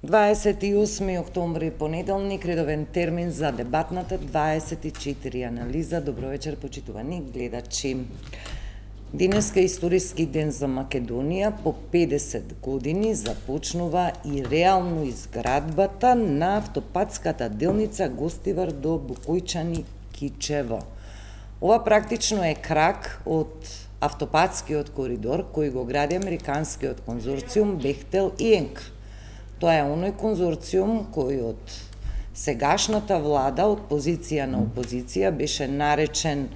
28 октомври, понеделник, редовен термин за дебатната 24 анализа. Добро вечер, почитувани гледачи. Денеска е историски ден за Македонија. По 50 години започнува и реално изградбата на автопатската делница Гостивар до Букојчани Кичево. Ова практично е крак од автопатскиот коридор кој го гради американскиот конзорциум Бехтел и Енка. Тоа е оној конзорциум кој од сегашната влада, од позиција на опозиција, беше наречен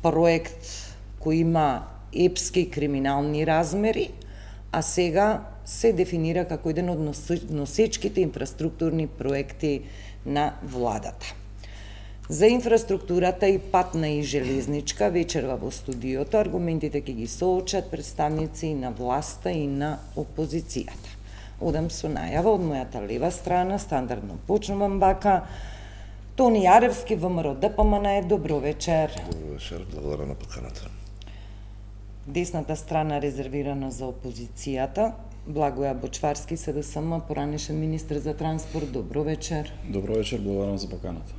проект кој има епски криминални размери, а сега се дефинира како еден од носечките инфраструктурни проекти на владата. За инфраструктурата и патна и железничка вечерва во студиото аргументите ќе ги соочат представници на власта и на опозицијата. Одам со најава од мојата лева страна, стандардно почнувам бака. Тони Јаревски, ВМРО ДПМН, добро вечер. Добро вечер, благодарам на поканата. Десната страна резервирана за опозицијата. Благоја Бочварски, СДСМ, поранешен министр за транспорт, добро вечер. Добро вечер, благодарам за поканата.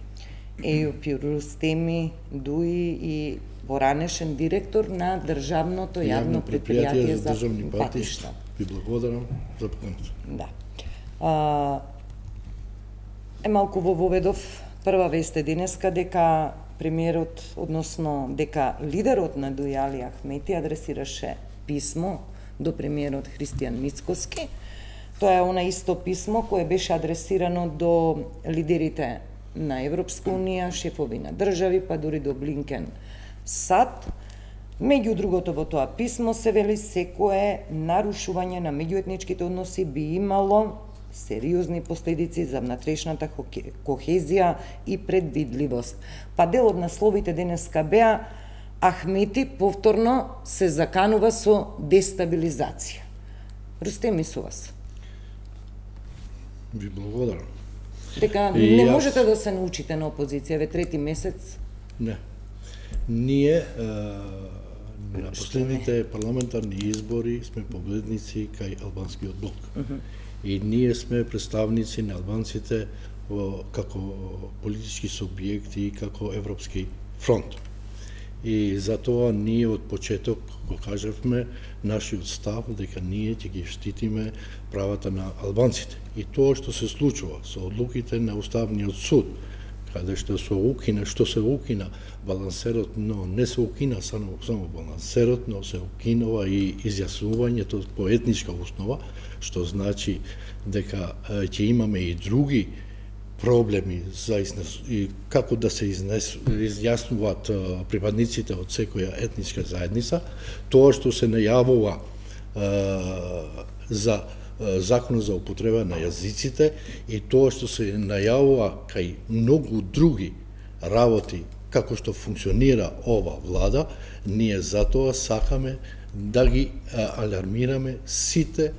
Ејопи Рустеми Дуи и поранешен директор на државното јавно предпријатие за државни патишта. Ви благодарам за поканата. Да. Малку во воведов прва вест е денеска дека премиерот, односно дека лидерот на Дуи Али Ахмети адресираше писмо до премиерот Христијан Мицкоски. Тоа е она исто писмо кое беше адресирано до лидерите на Европска унија, шефови на држави, па дури до Блинкен САД. Меѓу другото во тоа писмо се вели секое нарушување на меѓуетничките односи би имало сериозни последици за внатрешната кохезија и предвидливост. Па дел од насловите денеска беа Ахмети повторно се заканува со дестабилизација. Рустеми со вас. Ви благодарам. Дека не можете да се научите на опозиција, ве трети месец? Не. Ние на последните парламентарни избори сме победници кај албанскиот блок. И ние сме представници на албанците како политички субјекти, како Европски фронт. И затоа ние од почеток го кажавме нашиот став дека ние ќе ги штитиме правата на албанците. И тоа што се случува со одлуките на Уставниот суд, каде што се укина балансерот, но не се укина само балансерот, но се укинува и изјаснувањето по етничка основа, што значи дека ќе имаме и други проблеми за и како да се изјаснуваат припадниците од секоја етничка заедница. Тоа што се најавува за Законот за употреба на јазиците и тоа што се најавува кај многу други работи како што функционира ова влада, ние затоа сакаме да ги алармираме сите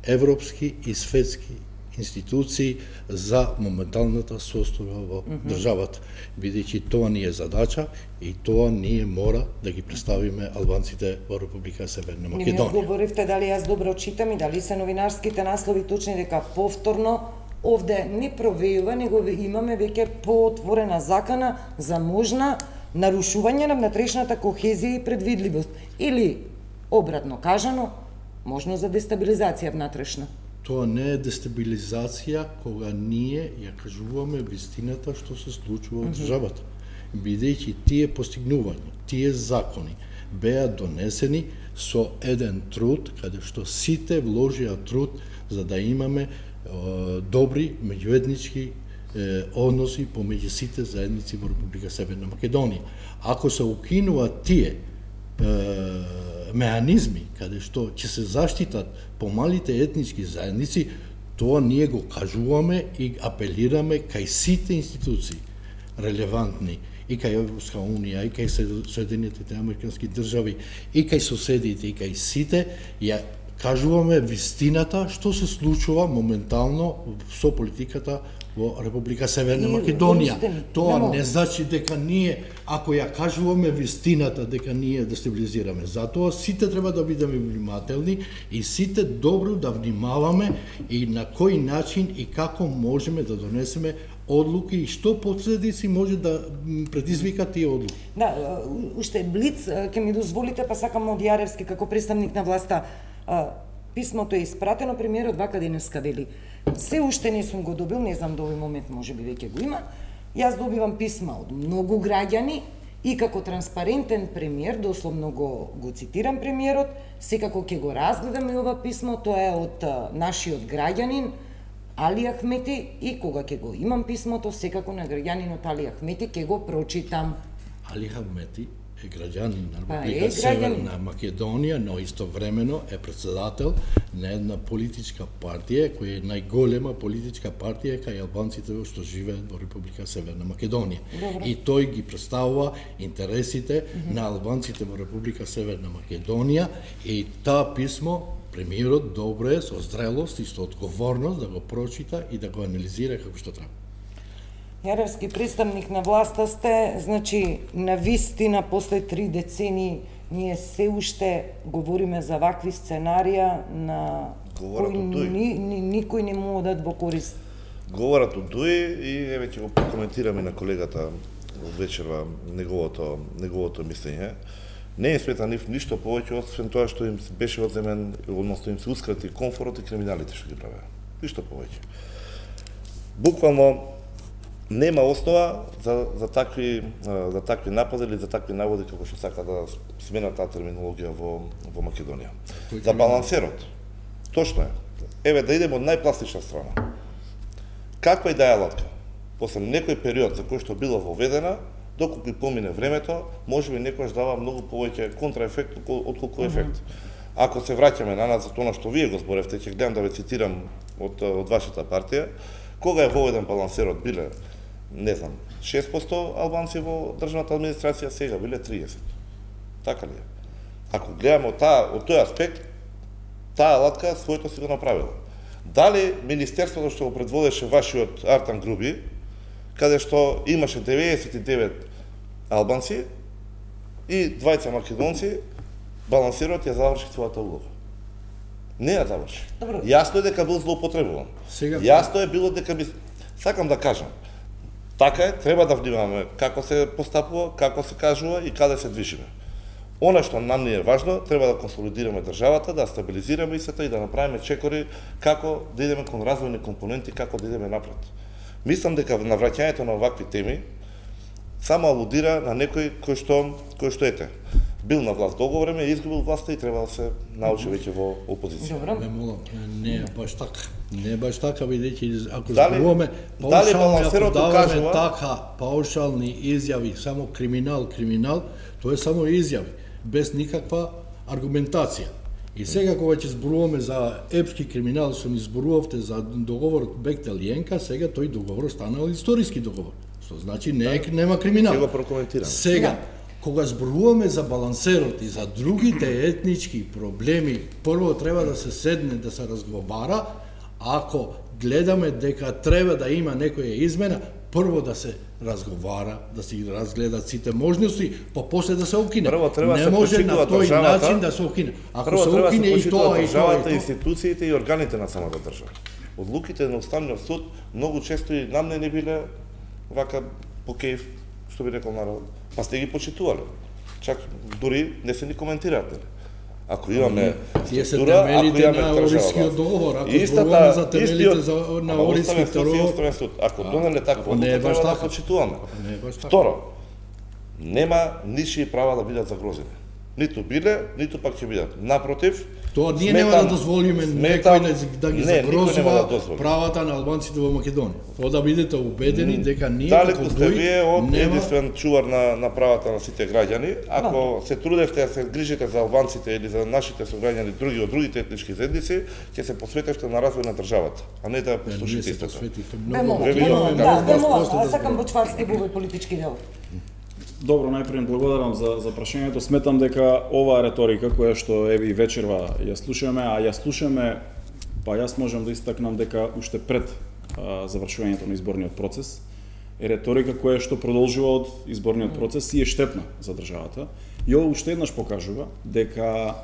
европски и светски институции за моменталната состојба во државата, бидејќи тоа ни е задача и тоа ние мора да ги представиме албанците во Република Северна Македонија. Не ми одговоривте дали јас добро читам и дали се новинарските наслови точни дека повторно овде не провејува, него имаме веќе поотворена закана за можна нарушување на внатрешната кохезија и предвидливост. Или, обратно кажано, можно за дестабилизација внатрешна. Тоа не е дестабилизација кога ние ја кажуваме вистината што се случува во државата. Бидејќи тие постигнувања, тие закони беа донесени со еден труд, каде што сите вложија труд за да имаме добри меѓуетнички односи помеѓу сите заедници во Република Северна Македонија. Ако се укинуваат тие меанизми каде што ќе се заштитат помалите етнички заедници, тоа ние го кажуваме и апелираме кај сите институции релевантни и кај Европска унија, и кај Соединетите американски држави, и кај соседите, и кај сите, ја кажуваме вистината што се случува моментално со политиката во Република Северна Македонија. Тоа не значи дека ние, ако ја кажуваме вистината, дека ние дестабилизираме. Затоа сите треба да бидеме внимателни и сите добро да внимаваме и на кој начин и како можеме да донесеме одлуки и што последици може да предизвика тие одлуки. Да, уште блиц, ќе ми дозволите, па сакам од Јаревски како представник на власта. Писмото е испратено, премиерот вака денеска вели: се уште не сум го добил, не знам до овој момент можеби веќе го има. Јас добивам писма од многу граѓани и како транспарентен премиер, дословно го цитирам премиерот, секако ќе го разгледаме ова писмо, тоа е од нашиот граѓанин Али Ахмети и кога ќе го имам писмото, секако на граѓанинот Али Ахмети ќе го прочитам. Али Ахмети е граѓанин на Република Северна Македонија, но истовремено е председател на една политичка партија, која е најголема политичка партија кај албанците што живеат во Република Северна Македонија. Добре. И тој ги представува интересите на албанците во Република Северна Македонија и таа писмо премиерот добро е со зрелост и со одговорност да го прочита и да го анализира како што треба. Јаревски, представник на власта сте, значи, на вистина, после 3 децени, ние се уште говориме за вакви сценарија на кои никој не му одат во корист. Говорат од ДУИ и еве ќе го прокоментираме на колегата од вечерва неговото мислење. Не е смета ништо повеќе освен тоа што им беше одземен, односно им се ускрати комфорот и криминалите што ги правеа. Ништо повеќе. Буквално нема основа за такви напади или за такви наводи како што сака да смена таа терминологија во Македонија. За балансерот. Точно е. Еве да идеме од најпластична страна. Каква и да е алатка, после некој период за кој што била воведена, доколку помине времето, можеби некојаш дава многу повеќе контраефект отколку ефект. Ако се враќаме на за тоа што вие го зборевте, ќе гледам да ве цитирам од вашата партија, кога е воведен балансерот биле, не знам, 6% албанци во државната администрација, сега биле 30. Така ли е? Ако гледаме од тој аспект, таа алатка своето си го направила. Дали министерството што го предводеше вашиот Артан Груби, каде што имаше 99 албанци и 20 македонци, балансерот ја заврши својата улога. Не ја заврши. Јасно е дека бил злоупотребуван. Јасно е било дека сакам да кажам, така е, треба да внимаваме како се постапува, како се кажува и каде се движиме. Она што нам ни е важно, треба да консолидираме државата, да стабилизираме истата и да направиме чекори како да идеме кон развојни компоненти, како да идеме напред. Мислам дека навраќањето на овакви теми само алудира на некој кој што ете. Бил на власт долго време, изгубил власта и треба да се научи веќе во опозиција. Ме молам, не е баш така. Не е баш така, бидејќи ако зборуваме паушални изјави, само криминал, тоа е само изјави, без никаква аргументација. И сега кога ќе зборуваме за епски криминал, што ни зборувавте за договорот Бехтел-Јенка, сега тој договор станал историски договор. Што значи нема криминал. Ќе го прокоментирам. Сега, кога зборуваме за балансерот и за другите етнички проблеми, прво треба да се седне, да се разговара. Ако гледаме дека треба да има некоја измена, прво да се разговара, да се разгледат сите можности, па после да се укине. Не може на тој начин да се укине. Ако се укине и тоа и државата, институциите и органите на самата држава. Одлуките на Уставниот суд многу често и нам не биле вака по кејф, што би рекол народ. Па сте ги почитувале. Чак дури не се ни коментираат. Ако имаме структура, ако имаме Орискиот договор, ако зборуваме за темелите на Орискиот договор, ако донеле такво, треба да почитуваме. Второ, нема ничии права да бидат загрозени. Ниту биле, ниту пак ќе бидат. Напротив, тоа ние нема да дозволиме некој да ги загрозува правата на албанците во Македонија. Тоа да бидете убедени дека ние како сте вие од единствен чувар на правата на сите граѓани. Ако се трудевте да се грижите за албанците или за нашите сограѓани други од другите етнички заедници, ќе се посветевте на развој на државата, а не да послушате истото. Сакам Бочварски во политички дел. Добро, најпред благодарам за прашањето. Сметам дека оваа реторика која што еве и вечерва ја слушаме, па јас можам да истакнам дека уште пред завршувањето на изборниот процес е реторика која што продолжува од изборниот процес и е штетна за државата. И ова уште еднаш покажува дека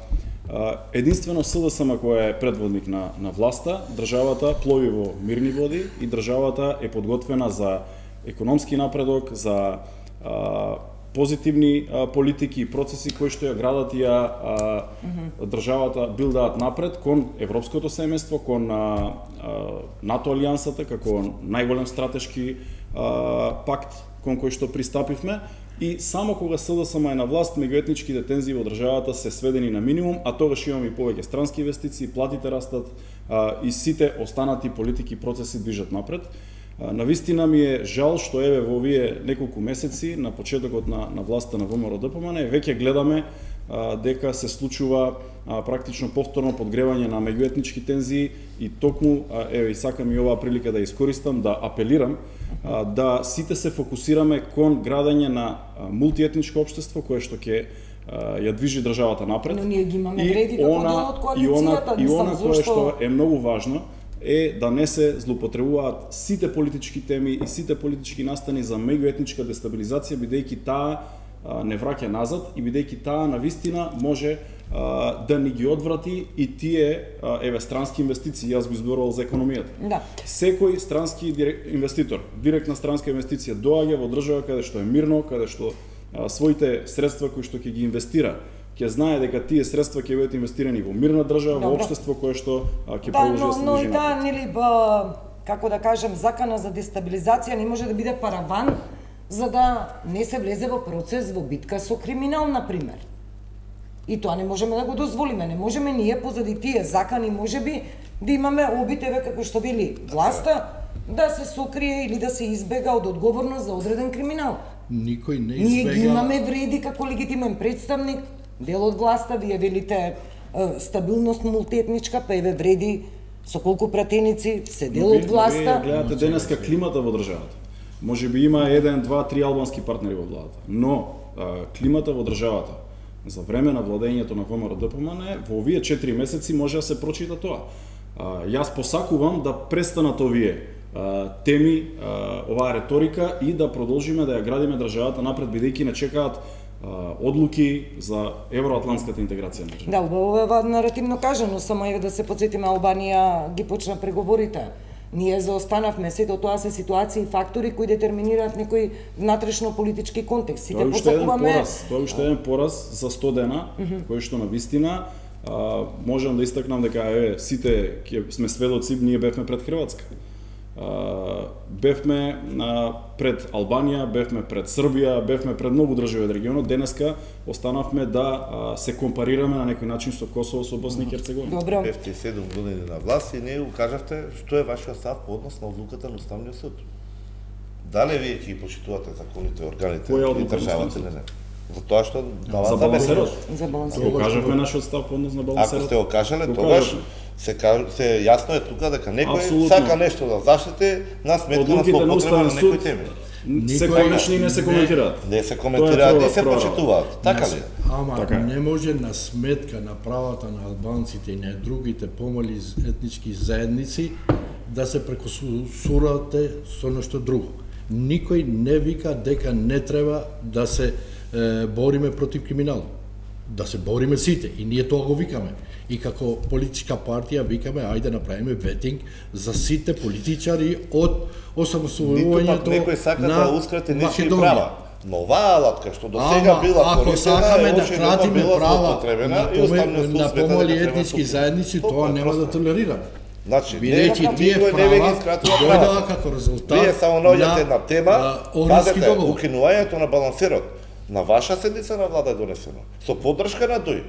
единствено СДСМ која е предводник на власта, државата плови во мирни води и државата е подготвена за економски напредок, за позитивни политики и процеси кои што ја градат и државата билдаат напред кон европското семејство, кон НАТО алијансата како најголем стратешки пакт кон кој што пристапивме. И само кога СДСМ е на власт, меѓуетничките тензии во државата се сведени на минимум, а тогаш имаме и повеќе странски инвестиции, платите растат и сите останати политики и процеси движат напред. Навистина ми е жал што еве во овие неколку месеци на почетокот на власта на ВМРО-ДПМН веќе гледаме дека се случува практично повторно подгревање на меѓуетнички тензии и токму еве и сакам и оваа прилика да искористам да апелирам да сите се фокусираме кон градење на мултиетничко општество кое што ќе ја движи државата напред. Но ние ги имаме вреди како дел од коалицијата, и она кое што е многу важно е да не се злоупотребуваат сите политички теми и сите политички настани за меѓуетничка дестабилизација, бидејќи таа не враќа назад и бидејќи таа навистина може да ни ги одврати и тие еве странски инвестиции. Јас го изборувал за економијата. Да. Секој странски инвеститор, директна странска инвестиција доаѓа во држава каде што е мирно, каде што своите средства кои што ќе ги инвестира ќе знае дека тие средства ќе бидат инвестирани во мирна држава, во општество кое што ќе продолжи да се движи напред. Да, нели како да кажем, закана за дестабилизација не може да биде параван за да не се влезе во процес во битка со криминал, например. И тоа не можеме да го дозволиме. Не можеме ние позади тие закани можеби да имаме обитеве како што вели власта да се сокрие или да се избега од одговорност за одреден криминал. Никој не избега. Ние ги имаме вреди како легитимен представник, дел од власта, вие велите стабилност мултиетничка, па еве вреди со колку пратеници се дел од власта. Вие гледате денеска климата во државата. Може би има 1, 2, 3 албански партнери во владата, но климата во државата за време на владењето на ВМРО-ДПМН во овие 4 месеци може да се прочита тоа. Јас посакувам да престанат овие теми, оваа реторика и да продолжиме да ја градиме државата напред, бидејќи не чекаат одлуки за евроатлантската интеграција на државата. Да, ова наративно кажано, само еве да се потсетиме, Албанија ги почна преговорите. Ние заостанавме, сето тоа се ситуации и фактори кои детерминираат некој внатрешно политички контекст. Сите посакуваме. Тоа е уште еден пораз за 100 дена, кој што на вистина можам да истакнам дека сите сме сведоци, ние бевме пред Хрватска. Бевме пред Албанија, бевме пред Србија, бевме пред многу држави од регионот. Денеска останавме да се компарираме на некој начин со Косово, со Босна и Херцеговина. Добро. Бевте 7 години на власт и не кажавте што е вашиот став по однос на одлуката на Уставниот суд. Дали вие ќе ги почитувате законите, органите и државата или не? За тоа што дава за балансерот. За балансерот. Го кажавме нашиот став по однос на балансерот. Ако сте го кажале, тогаш се јасно е тука дека некој сака нешто да заштити на сметка на злоупотреба на некои теми. Се конечно и не се коментираат. Не се коментираат и се почитуваат. Така ли? Ама не може на сметка на правата на албанците и на другите помали етнички заедници да се прекусурате со нешто друго. Никој не вика дека не треба да се бориме против криминал. Да се бориме сите и ние тоа го викаме. И како политичка партија викаме ајде направиме ветинг за сите политичари од осамостојувањето на некој сака да ускрати нечии права. Но оваа алатка што до сега била користена да кратиме права на помали етнички заедници, тоа нема да толерираме. Значи, бидејќи тие права дојдоа како резултат. Вие само наоѓате на тема, пазете, укинувањето на балансерот на ваша седница на влада е донесено со поддршка на ДОИ.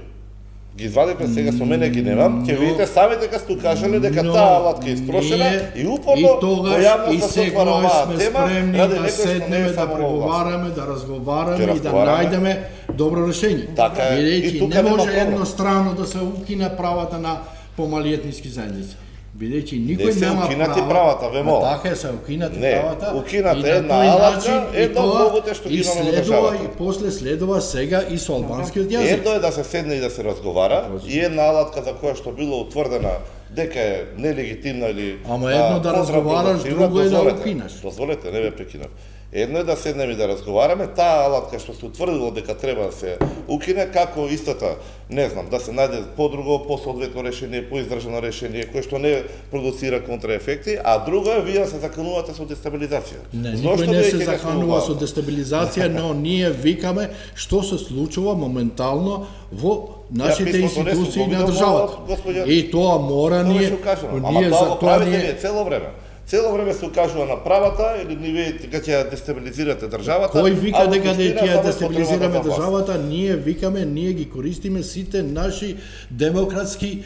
Ги извадивме сега, со мене ги немам, ќе видите сами дека сте кажале дека таа алатка е истрошена и упорно во јавноста се отвара оваа тема, ради некој што не е да преговараме, да разговараме и да најдеме добро решење. Така е, и тука не може едностранно да се укине правата на помали етнички заедници. бидејќи никој се нема укинати правата, ве молам. Така се укинати Не, правата. укината и на една тој алатка, начин, и едно тоа многуте што ги и имаме во следува државата. и после следува сега и со албанскиот јазик. Едно е да се седне и да се разговара, и една алатка за која што било утврдена дека е нелегитимна или Ама едно да разговараш, друго е да укинеш. Дозволете, не ве прекинав. Едно е да седнеме и да разговараме, таа алатка што се утврдило дека треба да се укине, како истата, не знам, да се најде подруго, посоодветно решение, поиздржано решение, кое што не продуцира контраефекти, а друго е вие се заканувате со дестабилизација. Не, Зошто никој не се веќе заканува со го дестабилизација, но ние викаме што се случува моментално во нашите писмото не сум институции го на видел, државата. господја. И тоа мора Тоа ние, беше укажано. ние Ама тоа за го тоа правите ние вие цело време. Цело време се укажува на правата или ни вие дека ќе ја дестабилизирате државата. Кој вика а во дека суштина ќе ја само дестабилизираме потребата за власт. државата, ние викаме, ние ги користиме сите наши демократски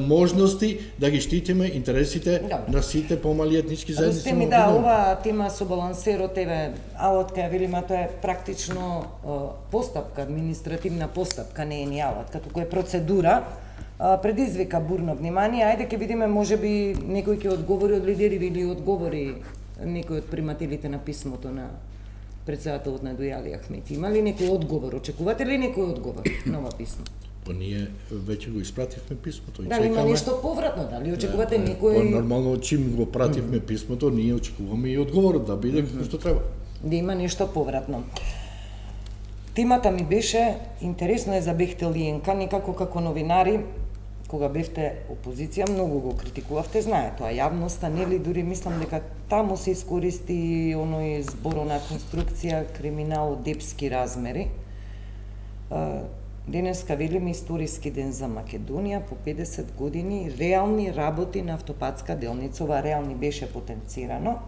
можности да ги штитиме интересите на сите помали етнички заедници. Русте ми да, ова тема со балансерот, еве, алатка ја велима, тоа е практично постапка, административна постапка, не е ни алатка, туку е процедура, предизвика бурно внимание. Ајде ќе видиме, можеби некој ќе одговори од лидери или одговори некој од примателите на писмото на председателот на Дујали Ахмети. Има ли некој одговор? Очекувате ли некој одговор на ова писмо? Па ние веќе го испративме писмото и Дали има чекаме. нешто повратно? Дали очекувате Па некој нормално чим го пративме писмото, ние очекуваме и одговорот да биде како што треба. да има нешто повратно? Темата ми беше интересно е за Бехтел и Енка, некако како новинари, кога бевте опозиција, многу го критикувавте, знае тоа јавноста, нели, дури мислам дека таму се искористи оној зборона конструкција криминал од епски размери. Денеска велиме историски ден за Македонија, по 50 години реални работи на автопатска делница, ова реални беше потенцирано,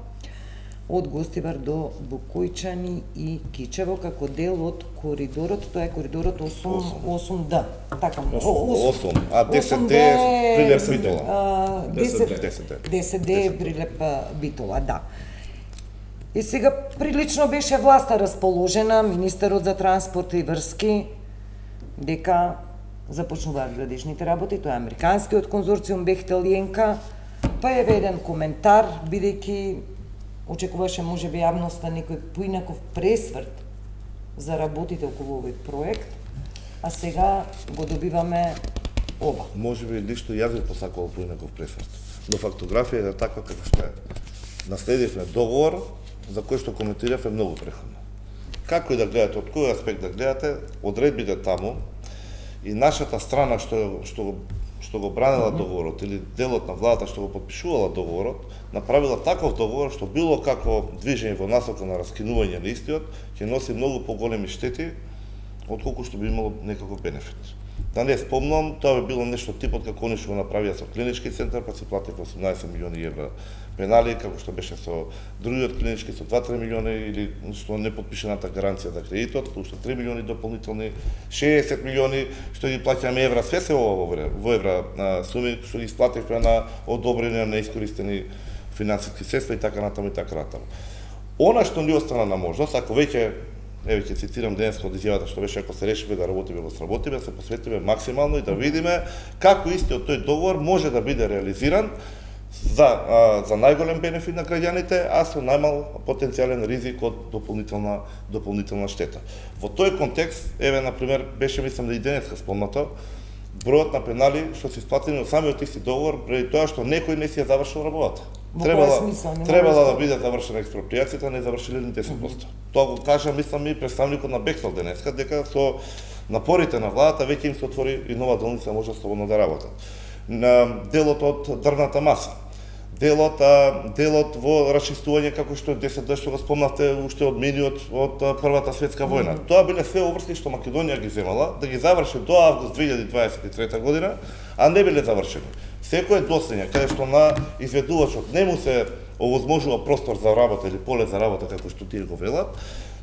од Гостивар до Букојчани и Кичево, како дел од коридорот, тоа е коридорот 8D. Така, 8, а 10D е Прилеп Битола. 10D е Прилеп Битола, да. И сега прилично беше власта расположена, министерот за транспорт и врски, дека започнуваат градежните работи, тоа е американскиот конзорциум Бехтел и Енка, па е еден коментар, бидејќи очекуваше можеби јавноста некој поинаков пресврт за работите околу овој проект, а сега го добиваме ова. Можеби лично јас би посакувал поинаков пресврт. Но фактографија е таква како што е. Наследивме договор за кој што коментиравме многу преходно. Како и да гледате, од кој аспект да гледате, одредбите таму и нашата страна што го бранела договорот или делот на владата што го подпишувала договорот, направила таков договор што било како движење во насока на раскинување на истиот, ќе носи многу поголеми штети отколку што би имало некаков бенефит. Да не спомнам, тоа би било нешто типот како они што го направија со клинички центар, па си платив 18 милиони евра пенали, како што беше со другиот клинички со 2-3 милиони или што не подпишената гаранција за кредитот, уште 3 милиони дополнителни, 60 милиони што ги плаќаме евра, све се во евра суми што ги исплативме на одобрени на искористени финансиски средства и така натаму и така натаму. Она што ни остана на можност, ако веќе еве ќе цитирам денеска од изјавата што беше ако се решиме да работиме, го сработиме, се посветиме максимално и да видиме како истиот тој договор може да биде реализиран за најголем бенефит на граѓаните, а со најмал потенцијален ризик од дополнителна штета. Во тој контекст, еве на пример, беше мислам да и денеска спомнато, бројот на пенали што се исплатени од самиот исти договор преди тоа што некој не си ја завршил работата. Требала да биде завршена експроприацијата, не завршиле ни 10%. Тоа го кажа, мислам, и представникот на Бехтел денеска, дека со напорите на владата веќе им се отвори и нова делница може слободно да работат. На делот од дрвната маса, делот во расчистување како што 10 што го спомнавте уште од миниот од Првата светска војна. Тоа биле све обврски што Македонија ги земала да ги заврши до август 2023 година, а не биле завршени. Секое дослење каде што на изведувачот не му се овозможува простор за работа или поле за работа како што тие го велат,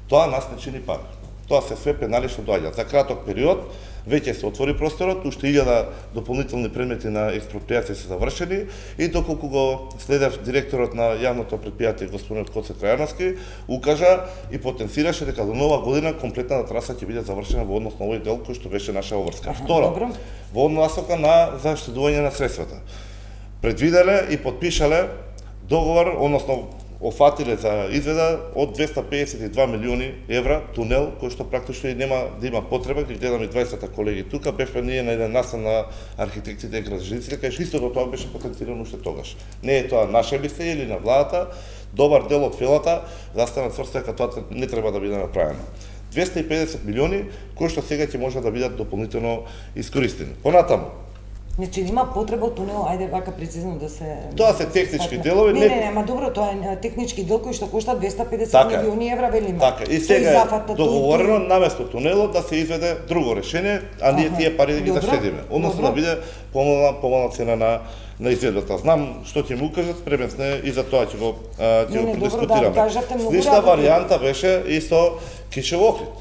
тоа нас не чини пари. Тоа се све пенали што доаѓаат. За краток период веќе се отвори просторот, уште 1000 дополнителни предмети на експроприација се завршени и доколку го следев директорот на јавното претпријатие господинот Коце Трајановски, укажа и потенцираше дека до нова година комплетната траса ќе биде завршена во однос на овој дел кој што беше наша обврска. Второ, во насока на заштедување на средствата. предвиделе и подпишале договор, односно офатиле за изведа од 252 милиони евра тунел, кој што практично и нема да има потреба, ги гледаме 20 колеги тука, бевме ние на еден настан на архитектите и градежниците, кај истото тоа беше потенцирано уште тогаш. Не е тоа наше мислење или на владата, добар дел од филата застана цврста дека тоа не треба да биде направено. 250 милиони кои што сега ќе може да бидат дополнително искористени. Понатаму, Значи нема потреба од тунел, ајде вака прецизно да се... Тоа се технички делови. Не, ама добро, тоа е технички дел кој што кошта 250 милиони евра, велиме. Така, и сега е договорено наместо тунелот да се изведе друго решение, а ние тие пари да ги заштедиме. Односно да биде помална цена на изведбата. Знам што ќе му кажат, спремен сме и за тоа ќе го продискутираме. Слична варијанта беше исто Кичево Охрид,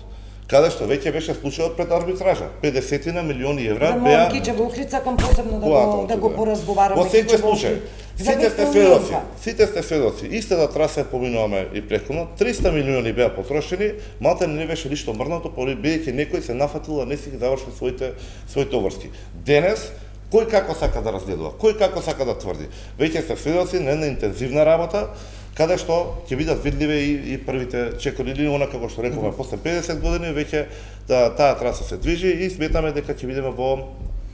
каде што веќе беше случајот пред арбитража. 50 милиони евра беа... Кичево Охрид сакам посебно да го поразговараме. Во секој случај, сите сте сведоци. Истата траса поминуваме и претходно. 300 милиони беа потрошени, малте не беше ништо мрднато, бидејќи некој се нафатил да не си ги заврши своите обврски. Денес, кој како сака да разгледува, кој како сака да тврди. Веќе сте сведоци на една интензивна работа, каде што ќе бидат видливе и првите чекори или она како што рековме после 50 години веќе таа траса се движи и сметаме дека ќе бидеме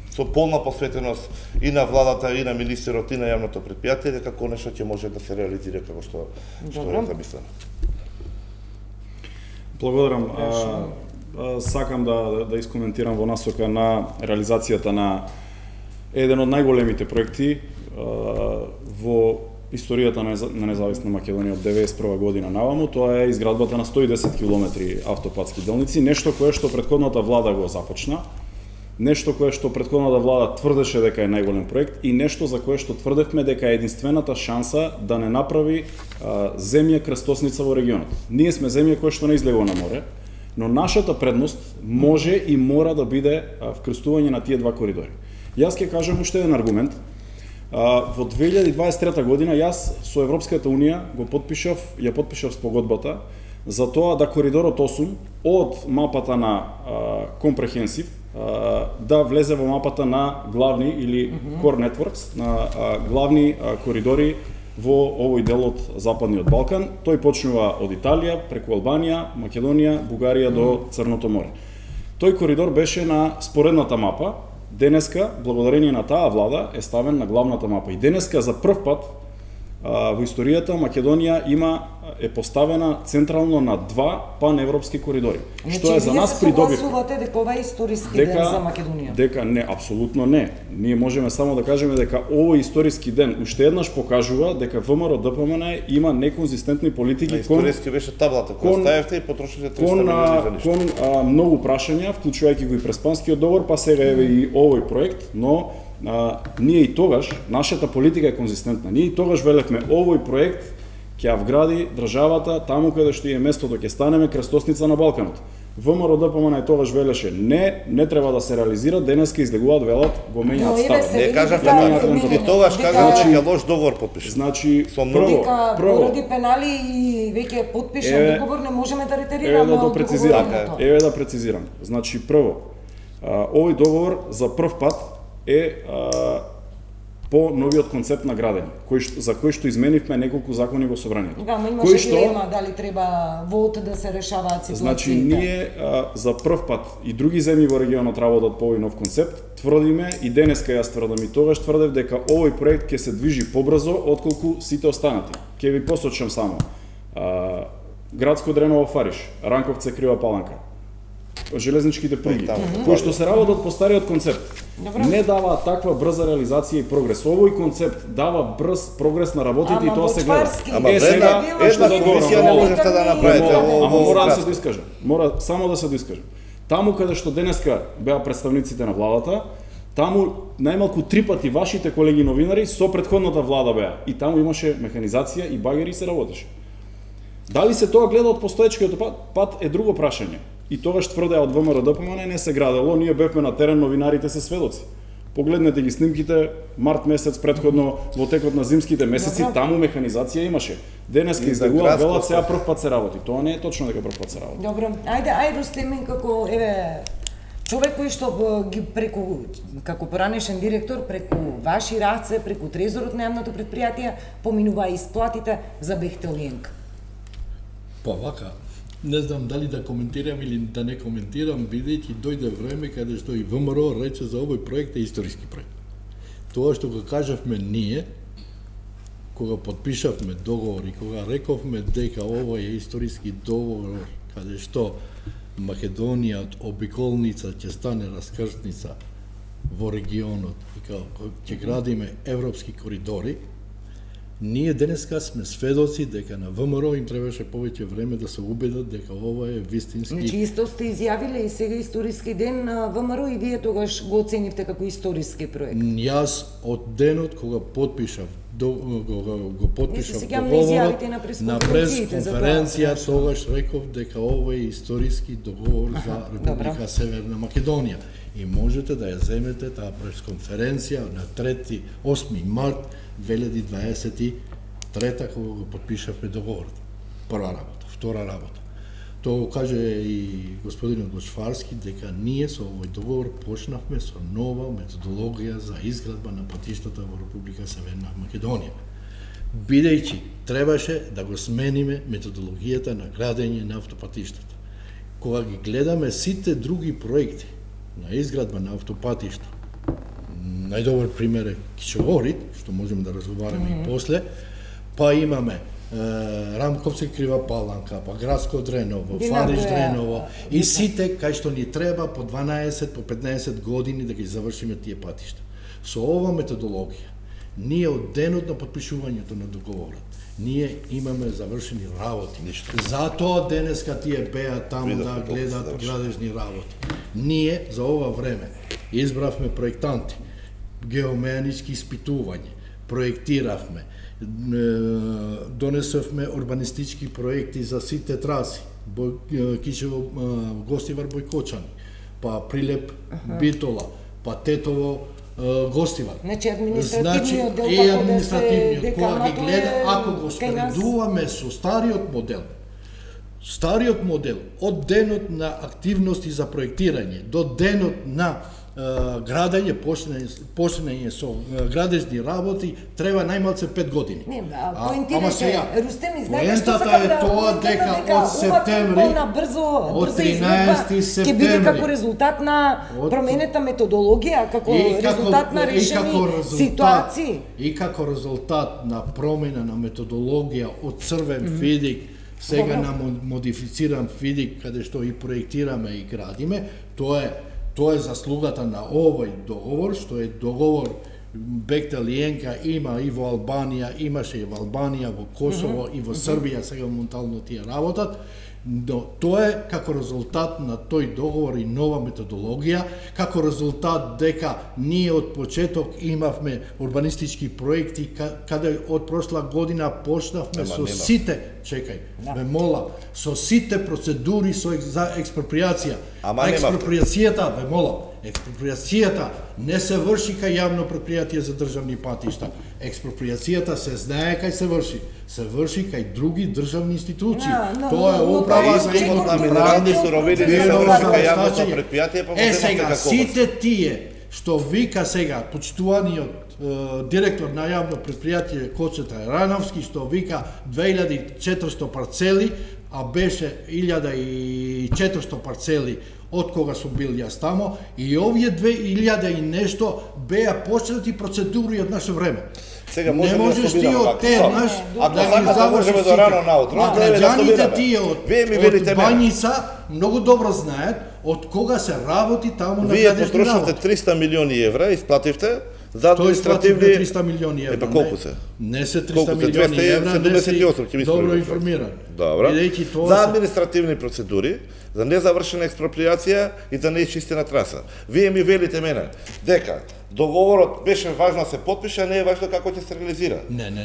со полна посветеност и на владата и на министерот и на јавното претпријатие дека конечно ќе може да се реализира како што е замислено. Благодарам. Сакам да искоментирам во насока на реализацијата на еден од најголемите проекти во историјата на независна Македонија од 91 година наваму, тоа е изградбата на 110 километри автопатски делници, нешто кое што претходната влада го започна, нешто кое што претходната влада тврдеше дека е најголем проект и нешто за кое што тврдевме дека е единствената шанса да не направи земја крстосница во регионот. Ние сме земја која што не излегува на море, но нашата предност може и мора да биде вкрстување на тие два коридори. Јас ќе кажам уште еден аргумент. Во 2023 година јас со Европската Унија ја потпишав спогодбата за тоа да коридорот 8 од мапата на Comprehensive да влезе во мапата на главни или Core Networks, на главни коридори во овој дел од Западниот Балкан. Тој почнува од Италија, преку Албанија, Македонија, Бугарија до Црното море. Тој коридор беше на споредната мапа. Денеска, благодарение на таа влада, е ставен на главната мапа. И денеска за прв пат во историјата Македонија е поставена централно на два паневропски коридори. Што е за нас придобив. Вие се согласувате дека ова е историски ден за Македонија? Дека не, апсолутно не. Ние можеме само да кажеме дека овој историски ден уште еднаш покажува дека ВМРО ДПМН има неконзистентни политики кон историски беше таблата која ставевте и потрошите 300 милиони за ништо. Кон многу прашања, вклучувајќи го и Преспанскиот договор, па сега еве и овој проект, но ние и тогаш, нашата политика е конзистентна. Ние и тогаш велевме овој проект ќе ја вгради државата таму каде што е местото, ќе станеме крстосница на Балканот. ВМРО ДПМН и тогаш велеше не треба да се реализира, денеска излегуваат велат го менјаат став. Не кажавме така. И тогаш кажавме дека лош договор потпиша. Значи прво поради пенали и веќе потпишан договор не можеме да ретерираме. Еве да прецизирам. Значи прво овој договор за прв пат е по новиот концепт на градење, за кој што изменивме неколку закони во собранието. Да, но имаше дилема дали треба вод да се решаваат ситуациите. Значи ние за прв пат и други земји во регионот работат по овој нов концепт, тврдиме и денеска јас тврдам и тогаш тврдев дека овој проект ќе се движи побрзо отколку сите останати. Ќе ви посочам само Градско Дреново Фариш, Ранковце Крива Паланка, железничките пруги, кои што се работат по стариот концепт. Не дава таква брза реализација и прогрес. Овој концепт дава брз прогрес на работите и тоа се гледа. Сега една комисија не можете да направите. Мора да се доискажам. Мора само да се доискажам. Таму каде што денеска беа представниците на владата, таму најмалку 3 пати вашите колеги новинари со претходната влада беа. И таму имаше механизација и багери се работеше. Дали се тоа гледа од постоечкиот пат е друго прашање. И тогаш тврдеа од ВМРО ДПМН не се градело, ние бевме на терен, новинарите се сведоци. Погледнете ги снимките, март месец предходно, во текот на зимските месеци, таму механизација имаше. Денеска излегува велат, сега прв пат се работи. Тоа не е точно дека прв пат се работи. Добро, ајде Рустем, како еве човек кој што ги преку, како поранешен директор, преку ваши раце, преку трезорот на јавното предпријатие, поминува исплатите за Бехтелиенка. Па вака, не знам дали да коментирам или да не коментирам, бидејќи дојде време каде што и ВМРО рече за овој проект е историски проект. Тоа што го кажавме ние, кога подпишавме договор и кога рековме дека ова е историски договор, каде што Македонија од обиколница ќе стане раскрсница во регионот и како ќе градиме европски коридори, ние денеска сме сведоци дека на ВМРО им требаше повеќе време да се убедат дека ова е вистински. Значи исто сте изјавиле и сега историски ден на ВМРО и вие тогаш го оценивте како историски проект. Јас од денот кога подпишав го подпишав договорот на пресконференција, тогаш реков дека ова е историски договор за Република Северна Македонија. И можете да ја земете таа пресконференција на 8 март 2023 кога го подпишавме договорот. Прва работа, втора работа. Тоа го каже и господинот Бочварски дека ние со овој договор почнавме со нова методологија за изградба на патиштата во Република Северна Македонија. Бидејќи требаше да го смениме методологијата на градење на автопатиштата. Кога ги гледаме сите други проекти на изградба на автопатишта, најдобар пример е Кичогорит, што можеме да разговараме и после, па имаме Рамковци Крива Паланка, па Градско Дреново, Фариш Дреново и сите кај што ни треба по 12, по 15 години да ги завршиме тие патишта. Со ова методологија, ние од денот на подпишувањето на договорот, ние имаме завршени работи. Затоа денеска тие беа таму да гледат градежни работи. Ние за ова време избравме проектанти, геомејанички испитувања, проектиравме, донесовме урбанистички проекти за сите траси, Кичево, Гостивар, Бојкочани, па Прилеп, Битола, па Тетово, Гостивар. Значи административниот дел како да се гледа, ако го споредуваме со стариот модел, од денот на активности за проектирање до денот на градење, почнење со градежни работи, треба најмалце 5 години. Не, поентирате, Рустем, знаете што е тоа дека од септември, од 13 септември, ќе биде како резултат на променета методологија, како резултат на решени ситуации. И како резултат на промена на методологија од црвен фидик, сега на модифициран фидик, каде што и проектираме и градиме, тоа е заслугата на овој договор, што е договор Бехтелиенка има и во Албанија, имаше и во Албанија, во Косово и во Србија, сега моментално тие работат, но тоа е како резултат на тој договор и нова методологија, како резултат дека ние од почеток имавме урбанистички проекти, каде од прошла година почнавме со сите, ме молам, со сите процедури за експроприација. Експроприацијата, ме молам, експроприацијата не се врши кај јавно предпријатие за државни патишта. Експроприацијата се знае кај се врши. Се врши кај други државни институции. Тоа е управа за минерални суровини се врши кај јавно предпријатие, па сега сите тие што вика сега почитуваниот директор на јавно предпријатие Коцета Рановски, што вика 2400 парцели, а беше 1400 парцели од кога сум бил јас тамо, и овие 2000 и нешто беа почнати процедури од наше време. Сега не можеш ти од Тернаш да ги завршиш сите. А граѓаните тие од Бањица многу добро знаат од кога се работи таму на градежни работи. Вие потрошивте 300 милиони евра, исплативте за административни... 300 милиони евра. Епа колку се? Не се 300 милиони евра, не си добро информиран. Добро. За административни процедури, за незавршена експроприација и за неичистена траса. Вие ми велите мене дека договорот беше важно да се подпише, а не е важно како ќе се реализира.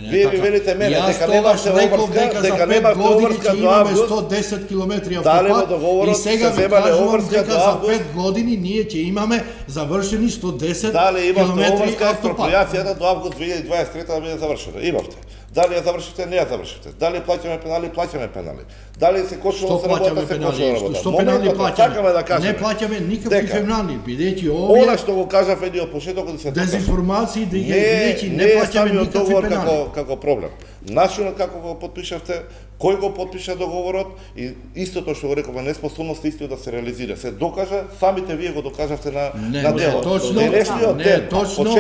Вие ми велите мене дека немаше обврска, дека немаше обврска до август. 110 километри автопат и сега ви кажувам дека за 5 години ние ќе имаме завршени 110 километри автопат. Дали имате обврска експроприацијата до август 2023 да биде завршена? Имавте. Дали ја завршивте, не ја завршивте. Дали плаќаме пенали. Дали се кочува се работа, се кочува работа. Што пенали плаќаме? Да кажеме, не плаќаме никакви пенали, бидејќи овие она што го кажав едни од почетокот се дезинформации да бидејќи не плаќаме никакви пенали како проблем. Начинот како го потпишавте, кој го потпиша договорот и истото што го рековме, неспособност истиот да се реализира. Се докажа, самите вие го докажавте на дело. Точно,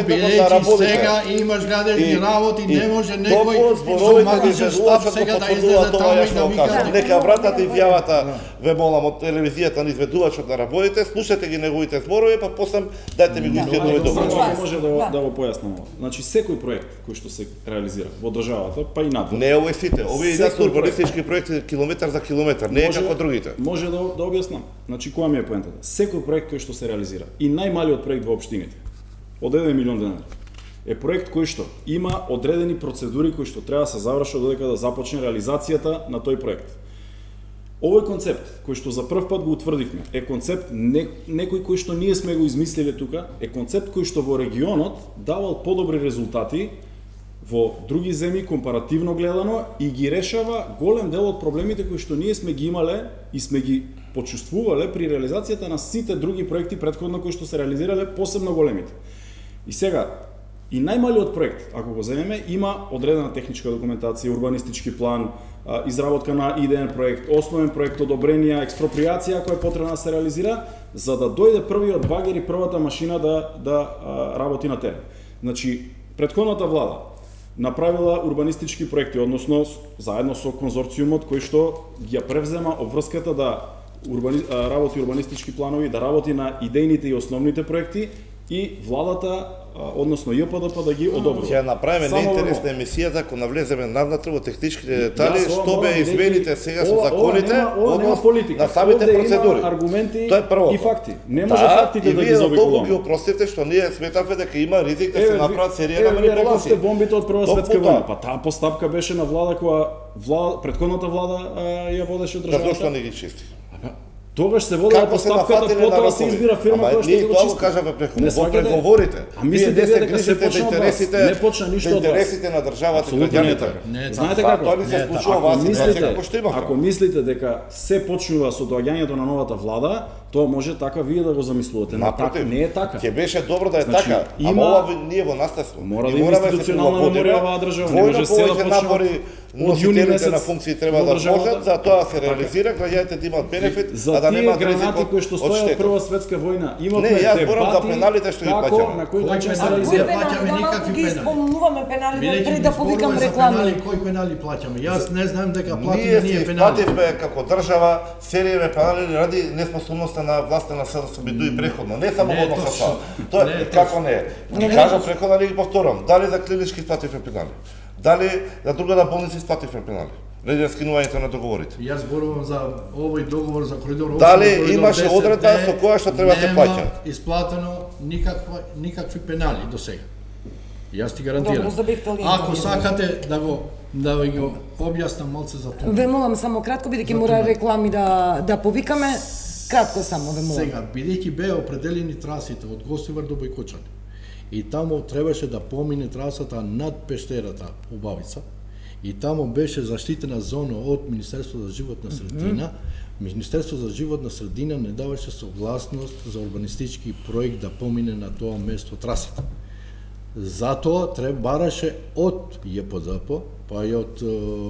бидејќи сега имаш градени работи, не може некој со магичен штаб сега да излезе таму и да вика нека вратате изјавата, ве молам, од телевизијата на изведувачот на работите, слушате ги неговите зборови, па после дайте ми го истиот договор. Може да го појаснам. Значи секој проект кој што се реализира во државата, па и надвор. Не овој сите, овие идат урбанистички проекти километар за километар, не е како другите. Може да објаснам. Значи која ми е поентата? Секој проект кој што се реализира и најмалиот проект во општините од 1 милион денари е проект кој што има одредени процедури кои што треба да се завршат додека да започне реализацијата на тој проект. Овој концепт кој што за прв пат го утврдивме е концепт некој кој што ние сме го измислиле тука, е концепт кој што во регионот давал подобри резултати во други земји компаративно гледано и ги решава голем дел од проблемите кои што ние сме ги имале и сме ги почувствувале при реализацијата на сите други проекти претходно кои што се реализирале, посебно големите. И сега, и најмалиот проект, ако го земеме, има одредена техничка документација, урбанистички план, изработка на идеен проект, основен проект, одобренија, експроприација која е потребна да се реализира, за да дојде првиот багер и првата машина да работи на терен. Значи, претходната влада направила урбанистички проекти, односно заедно со конзорциумот кој што ја превзема обврската да работи урбанистички планови, да работи на идејните и основните проекти и владата, односно ЈПДП да ги одобри. Ќе направиме неинтересна емисијата ако навлеземе навнатре во техничките детали, што бе измените сега со законите, на самите процедури. Аргументи тоа е и факти. Не може фактите да ги заобиколуваме. И вие ги опростите што ние сметавме дека има ризик да се направат серија на манипулации. Вие бомбите од Прва светска војна, па таа постапка беше на влада која претходната влада ја водеше државата. Зошто не ги чисти? Тогаш се водела постапката, потоа се избира фирма која што го чисти. Кажа во преговорите. Вие дека се почна интересите, не почна ништо од интересите на државата и граѓаните. Знаете како? Тоа не се случува во ситуација како што имавме. Ако мислите дека се почнува со доаѓањето на новата влада, тоа може така вие да го замислувате, но така не е така. Ќе беше добро да е така, ама ова ние во наследство. Мора да има институционална меморија оваа држава, не може се да почне од јуни месец на функции треба да можат, за тоа се реализира, граѓаните да имаат бенефит, а да немаат ризик кои што стојат од Прва светска војна. Имавме дебати за пеналите што ги плаќаме. На кој начин се реализира? Плаќаме никакви пенали. Спомнуваме пеналите пред да повикам реклами. Кои пенали плаќаме? Јас не знам дека платиме ние ние пенали. Плативме како држава серија пенали ради неспособноста на власта на СДСМ и преходно, не само во однос со тоа. Тоа како не е? Кажам преходно и повторам, дали за клинички плативме пенали? Дали за другата болници плативме пенали? Ради скинувањето на договорите. Јас зборувам за овој договор за коридор 8. Дали имаше одредба со која што треба да се плаќа? Нема исплатено никакви пенали до сега. Јас ти гарантирам. Ако сакате да го објаснам малце за тоа. Ве молам само кратко, бидејќи мора реклами да повикаме, кратко само ве молам. Сега, бидејќи беа определени трасите од Гостивар до Бојкочани, и таму требаше да помине трасата над пештерата Убавица, и таму беше заштитена зона од Министерство за животна средина. Министерство за животна средина не даваше согласност за урбанистички проект да помине на тоа место трасата. Затоа бараше од ЈПДП, па и од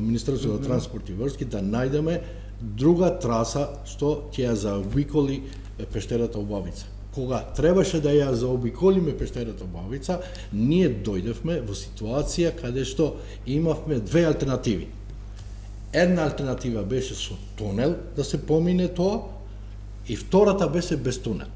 Министерство за транспорт и врски да најдеме друга траса што ќе ја заобиколи пештерата Убавица. Кога требаше да ја заобиколиме пештерата Убавица, ние дојдевме во ситуација каде што имавме две алтернативи. Една алтернатива беше со тунел да се помине тоа, и втората беше без тунел.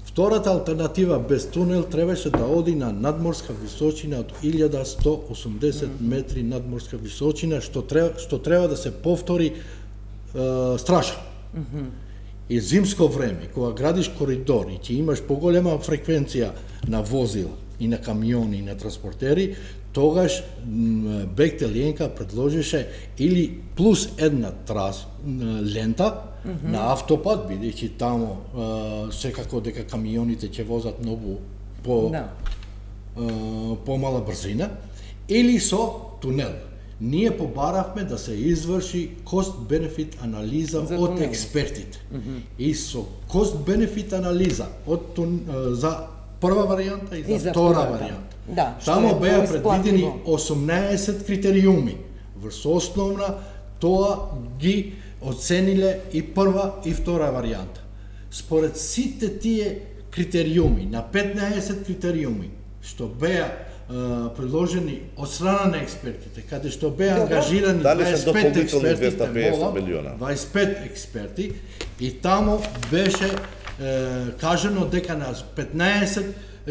Втората алтернатива без тунел требаше да оди на надморска височина од 1180 метри надморска височина, што треба да се повтори стража. И зимско време, кога градиш коридор и ќе имаш поголема фреквенција на возила и на камиони и на транспортери, тогаш Бехтел Јенка предложише или плюс една лента на автопат, бидејќи таму секако дека камионите ќе возат многу помала брзина, или со тунел. ние побаравме да се изврши cost-benefit анализа од експертите. И со cost-benefit анализа за прва варијанта и за втора варијанта. Да, таму беа предвидени 18 критериуми. Врз основна тоа ги оцениле и прва и втора варијанта. Според сите тие критериуми, на 15 критериуми, што беа предложени од страна на експертите, каде што беа ангажирани 25 експерти, 25 експерти, и таму беше кажано дека на 15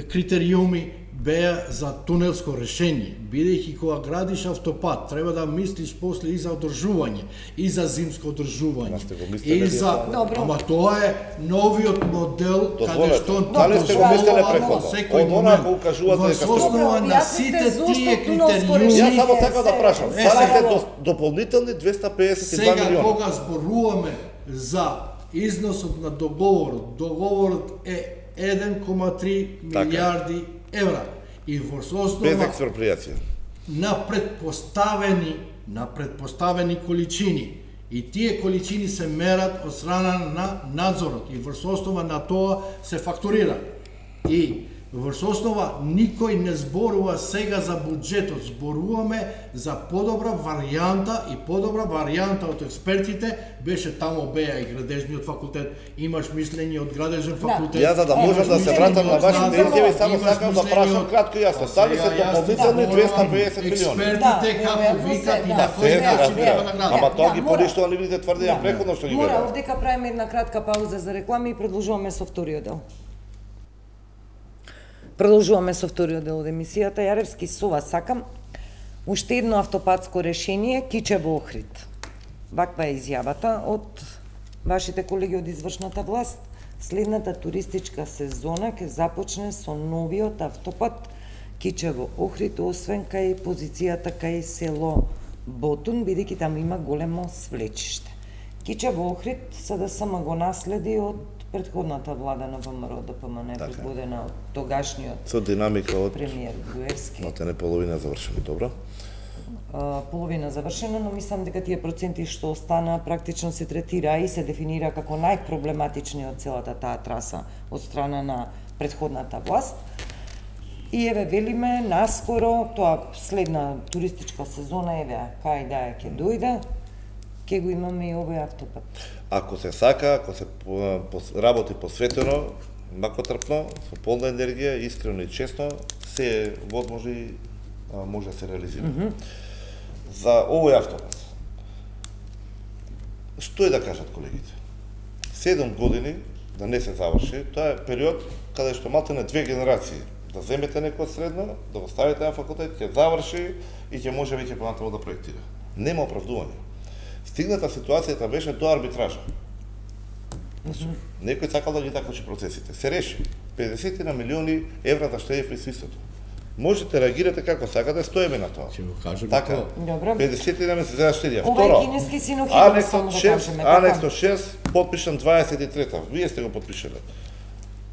критериуми беа за тунелско решение, бидејќи кога градиш автопат, треба да мислиш после и за одржување, и за зимско одржување, и за... Ама тоа е новиот модел, каде што дали сте го мислеле преходно? секој момент. Во основа на сите тие критериуми... Јас само сакам да прашам, станете дополнителни 252 милиона. Сега кога зборуваме за износот на договорот е 1,3 милиарди евра и во основа без експроприација на предпоставени количини, и тие количини се мерат од страна на надзорот и во основа на тоа се фактурира. И во основа никој не зборува сега за буџетот, зборуваме за подобра варијанта, и подобра варијанта од експертите беше таму беа и градежниот факултет, имаш мислење од градежен факултет. Ја за да можам да се вратам на вашите изјави, само сакам да прашам кратко и јасно. Дали се дополнителни 250 милиони? Експертите како викат и на кој начин треба да градат. Ама тоа ги поништува нивните тврдења преходно што ги Мора, велат. овдека правиме една кратка пауза за реклами и продолжуваме со вториот дел. Продолжуваме со вториот дел од емисијата. Јаревски, со вас сакам уште едно автопатско решение, Кичево Охрид. Ваква е изјавата од вашите колеги од извршната власт. Следната туристичка сезона ќе започне со новиот автопат Кичево Охрид, освен кај позицијата кај село Ботун, бидејќи таму има големо свлечиште. Кичево Охрид СДСМ го наследи од предходната влада на ВМРО ДПМН, предводена од тогашниот Со динамика од премиер Груевски. Матене половина завршено, добро. Половина завршено, но мислам дека тие проценти што остана практично се третира и се дефинира како најпроблематични од целата таа траса од страна на предходната власт. И еве велиме наскоро, тоа следна туристичка сезона, еве кај да е ќе дојде, ќе го имаме и овој автопат. Ако се сака, ако се работи посветено, макотрпно, со полна енергија, искрено и честно, се е возможно и може да се реализира. За овој автопат, што е да кажат колегите? 7 години да не се заврши, тоа е период каде што малтene 2 генерации да земете некој средно, да го ставите на факултет, ќе заврши и ќе може веќе понатаму да проектира. Нема оправдување. Стигната ситуацијата беше до арбитража. Некој сакал да ги такочи процесите. Се реши. 50 на милиони евра да штеди при свистото. Можете реагирате како сакате, стоеме на тоа. Ќе го кажем така. Добро. 50 на месец за штедија. Ова Второ, е кинески синохидон, само да кажеме. Анексо 6, подпишан 23-та. Вие сте го подпишале.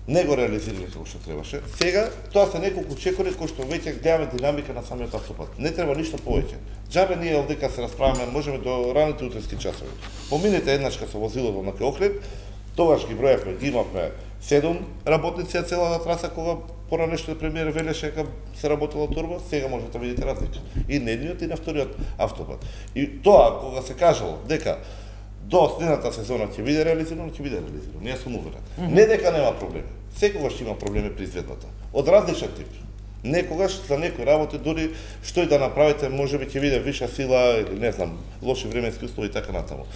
Не го реализирали како што требаше. Сега, тоа се неколку чекори кои што веќе гледаме динамика на самиот автопат. Не треба ништо повеќе. Џабе ние овдека се расправаме, можеме до раните утренски часови. Поминете еднашка со возилото на Охрид, тогаш ги броевме, ги имавме 7 работници на целата траса кога поранешниот премиер велеше дека се работела турба, сега можете да видите разлика. И на едниот и на вториот автопат. И тоа кога се кажало дека до следната сезона ќе биде реализирано, ќе биде реализирано. Ние сум уверен. Не дека нема проблеми. Секогаш има проблеми при изведбата. Од различен тип. Некогаш за некои работи дури што и да направите, можеби ќе биде виша сила или не знам, лоши временски услови и така натаму.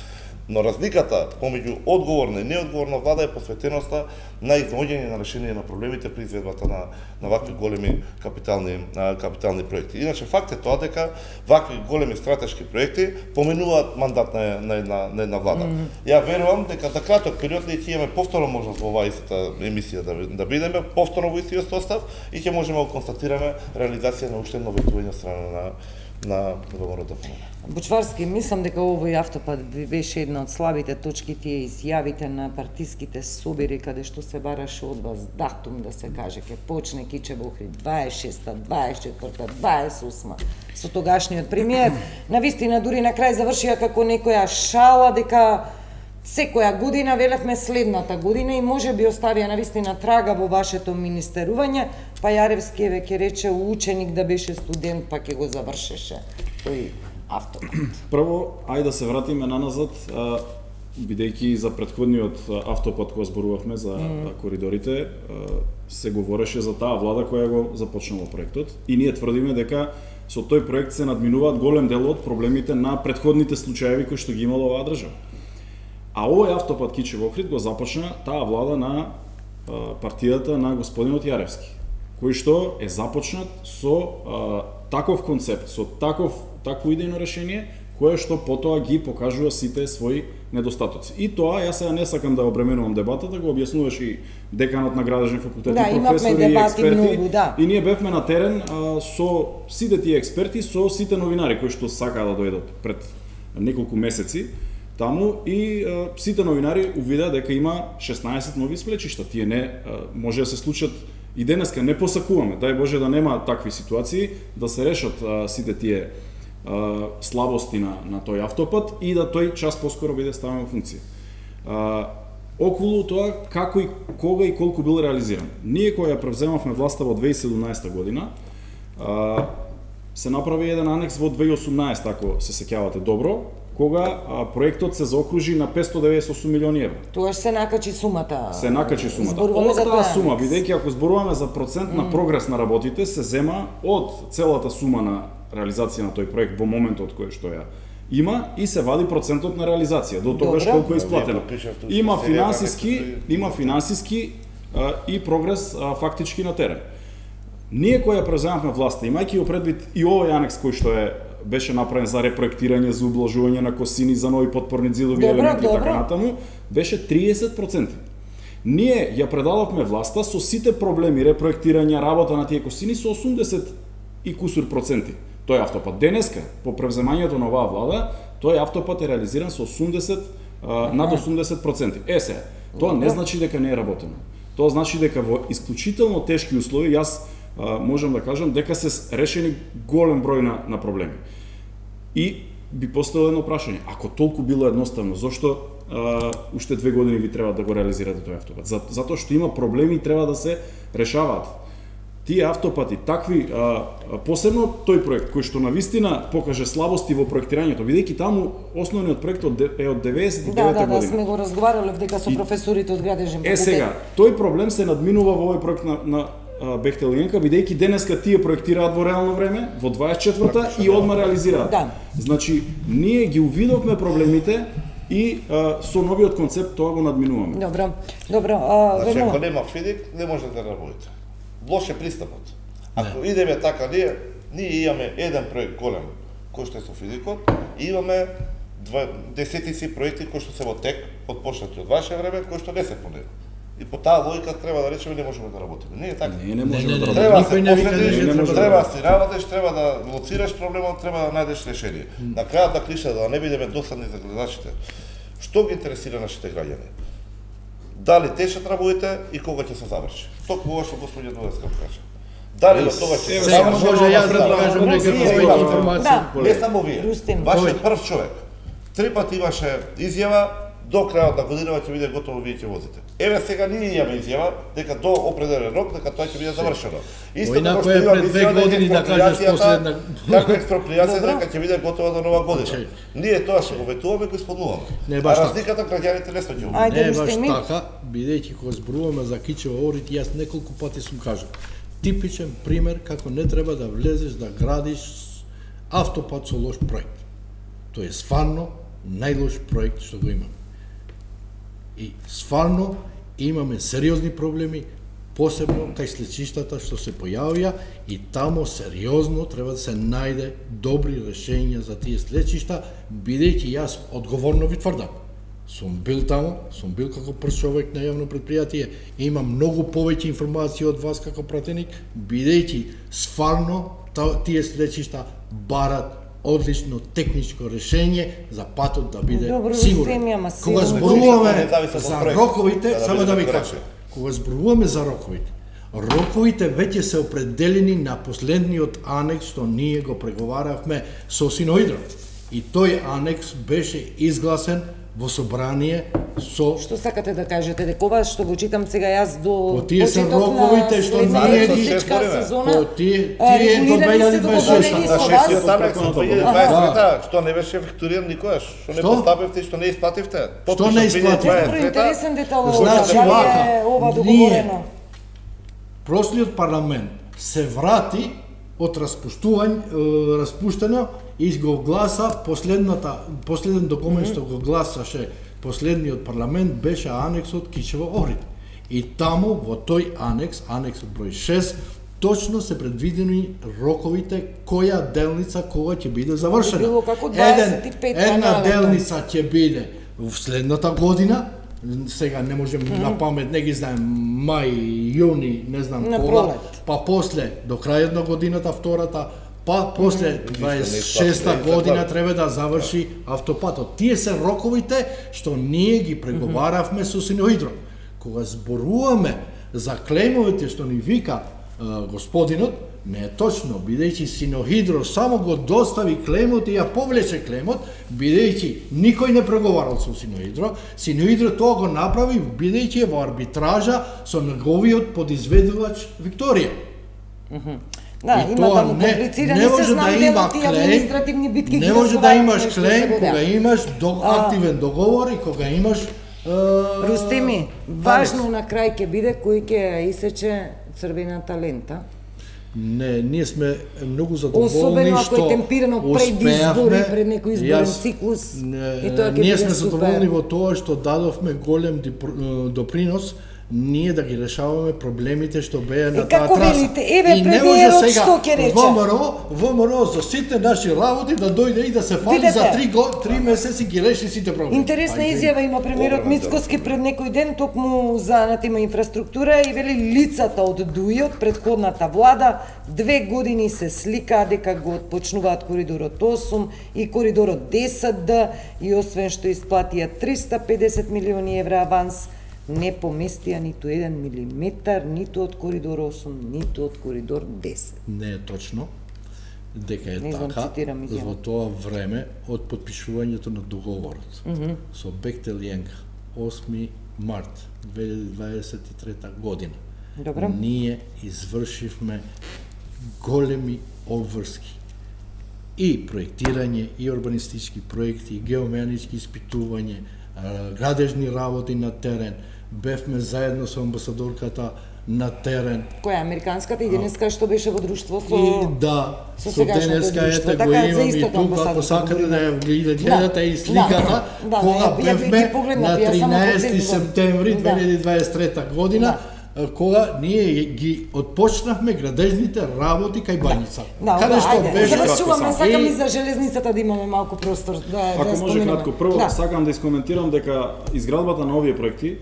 Но разликата помеѓу одговорна и неодговорна влада е посветеноста на изнаоѓање на решение на проблемите при изведбата на вакви големи капитални проекти. Иначе факт е тоа дека вакви големи стратешки проекти поминуваат мандат на една влада. Ја верувам дека за краток период ние ќе имаме повторно можност во оваа истата емисија да бидеме повторно во истиот состав и ќе можеме да констатираме реализација на уште едно ветување од страна на ВМРО ДФМН. Бучварски, мислам дека овој автопат беше една од слабите точки, тие изјавите на партиските собери, каде што се бараше од вас датум да се каже, ке почне Кичево Охрид 26-та, 24-та, 28-та, со тогашниот премиер. Навистина, дури на крај завршија како некоја шала дека секоја година, велевме следната година, и може би оставија навистина трага во вашето министерување, па Јаревски веќе рече ученик да беше студент, па ќе го завршеше тој автопат. Прво, ајде да се вратиме наназад, бидејќи за претходниот автопат кој зборувавме за коридорите, се говореше за таа влада која го започнала проектот, и ние тврдиме дека со тој проект се надминуваат голем дел од проблемите на претходните случаеви кои што ги имала оваа држава. А овој автопат Кичево Охрид го започна таа влада на партијата на господинот Јаревски, кој што е започнат со таков концепт, со такво идејно решение, кое што потоа ги покажува сите своји недостатоци. И тоа, јас сега не сакам да обременувам дебатата, го објаснуваше и деканот на Градежен факултет, и професори, и експерти, многу, да. И ние бевме на терен со сите тие експерти, со сите новинари кои што сакаа да дојдат пред неколку месеци таму, и сите новинари увидеа дека има 16 нови сплечишта. Тие не може да се случат и денеска, не посакуваме, дај Боже да нема такви ситуации, да се решат сите тие слабости на тој автопат и да тој час поскоро биде ставен во функција. Околу тоа како и кога и колку бил реализиран. Ние кога ја превземавме власта во 2017 година, се направи еден анекс во 2018, ако се сеќавате добро, кога проектот се заокружи на 598 милиони евра. Тоа се накачи сумата. Се накачи сумата. Зборуваме за таа сума, бидејќи ако зборуваме за процент на прогрес на работите, се зема од целата сума на реализација на тој проект во моментот кој што ја има и се вади процентот на реализација до тогаш колку е исплатено. Има финансиски и прогрес фактички на терен. Ние која преземавме власта, имајќи го предвид и овој анекс кој што беше направен за репроектирање, за ублажување на косини, за нови подпорни ѕидови елементи и така натаму, беше 30%. Ние ја предадовме власта со сите проблеми, репроектирање, работа на тие косини со 80 и кусур проценти. Тој автопат денеска, по превземањето на оваа влада, тој автопат е реализиран со 80 над 80%. Сега, тоа не значи дека не е работено. Тоа значи дека во исклучително тешки услови, јас можам да кажам дека се решени голем број на проблеми. И би поставило едно прашање, ако толку било едноставно, зошто уште 2 години ви треба да го реализирате тој автопат? Затоа што има проблеми и треба да се решаваат. Тие автопати, такви, посебно тој проект, кој што навистина покаже слабости во проектирањето, бидејќи таму основниот проект е од 99 година. Да, сме го разговарале дека со професорите од Градежен факултет. Сега, тој проблем се надминува во овој проект на Бехтел Генка, бидејќи денеска тие проектираат во реално време, во 24-та и одма реализираат. Да. Значи, ние ги увидовме проблемите и со новиот концепт тоа го надминуваме. Добро. Значи, ако нема фидик, не може да работите. Лош е пристапот. Ако идеме така, ние имаме еден проект голем, кој што е со физикот, и имаме десетици проекти кои што се во тек, отпочнати од ваше време, кои што не се по него. И по таа логика треба да речеме не можеме да работиме. Не е така. Не можеме да Треба да се последиш, треба да си работиш, треба да лоцираш проблемот, треба да најдеш решение. На крајот на клиша, да не бидеме досадни за гледачите, што ги интересира нашите граѓани? Дали течат работите и кога ќе се заврши? Токму ова што господјот Дудевска каже. Дали до тоа ќе се заврши? Може јас да кажам нека повеќе информација. Не само вие. Вашиот прв човек 3 пати имаше изјава, до крајот на година ќе биде готово, вие ќе возите. Еве сега ние имаме изјава дека до определен рок дека тоа ќе биде завршено. Исто како што имаме изјава дека експропријација дека ќе биде готова до нова година. Ние тоа што го ветуваме, го исполнуваме. А разликата граѓаните не сме ќе. Не баш така, бидејќи кога зборуваме за Кичево Охрид, јас неколку пати сум кажал. Типичен пример како не треба да влезеш да градиш автопат со лош проект. Тоа е стварно најлош проект што го имаме. И стварно имаме сериозни проблеми, посебно кај слечиштата што се појавија, и тамо сериозно треба да се најде добри решенија за тие слечишта, бидејќи јас одговорно ви тврдам. Сум бил таму, сум бил како прв човек на јавно предпријатие, имам многу повеќе информации од вас како пратеник, бидејќи стварно тие слечишта барат одлично техничко решение за патот да биде Добро, сигурен. Кога зборуваме за роковите, само да ви кажам, кога зборуваме за роковите веќе се определени на последниот анекс што ние го преговаравме со Синоидро. И тој анекс беше изгласен во собрание со... Што сакате да кажете, дека ова што го читам сега јас до тие се роковите што ние ги сезона, тие до 2026. На 6 анекс од 2023 што не беше ефектуриран никогаш, што не поставивте и што не исплативте. Што не исплативте? Интересен детал Значи ова договорено. Прошлиот парламент се врати од распуштено и го гласа последен документ што го гласаше последниот парламент беше анексот Кичево-Охрид. И таму во тој анексот број 6, точно се предвидени роковите која делница кога ќе биде завршена. Една делница ќе биде во следната година, сега не можем на памет, не ги знаем, мај, јуни, не знам кога, па после до крајот на годината втората, па после 26-та година треба да заврши автопатот. Тие се роковите што ние ги преговаравме со Синоидро. Кога зборуваме за клемовите што ни вика господинот, не е точно, бидејќи Синоидро само го достави клемот и ја повлече клемот, бидејќи никој не преговарал со Синоидро. Синоидро тоа го направи бидејќи е во арбитража со неговиот подизведувач Викторија. Да, има да му комплицира, не се знам дел од тие административни битки. Не може да имаш клем кога имаш активен договор и кога имаш... Рустеми, важно на крај ќе биде кој ќе исече црвената лента. Не, ние сме многу задоволни што особено ако е темпирано пред избори, пред некој изборен циклус. И тоа ќе биде супер. Ние сме задоволни во тоа што дадовме голем допринос ние да ги решаваме проблемите што беа на таа траса. Како велите, еве премиерот што ќе рече? ВМРО за сите наши работи да дојде и да се фали за 3 месеци ги реши сите проблеми. Интересна изјава има премиерот Мицкоски пред некој ден токму за на тема инфраструктура и вели лицата од ДУИ од претходната влада 2 години се сликаа дека го отпочнуваат коридорот 8 и коридорот 10Д и освен што исплатија 350 милиони евра аванс, не поместија ниту 1 милиметар, ниту од коридор 8, ниту од коридор 10. Не е точно дека е така во тоа време од подпишувањето на договорот со Бехтел Јенка 8 март 2023 година. Добро. Ние извршивме големи обврски и проектирање, и урбанистички проекти, и геомеханички испитување, градежни работи на терен. Бевме заедно со амбасадорката на терен. Која американската и денеска што беше во друштво со... И да, со денеска ете го имам и тука, ако сакате да ја гледате и сликата, кога бевме на 13 септември 2023 година, кога ние ги отпочнавме градежните работи кај Бањица. Каде што беше... Завршуваме, сакам и за железницата да имаме малку простор. Ако може кратко, прво сакам да искоментирам дека изградбата на овие проекти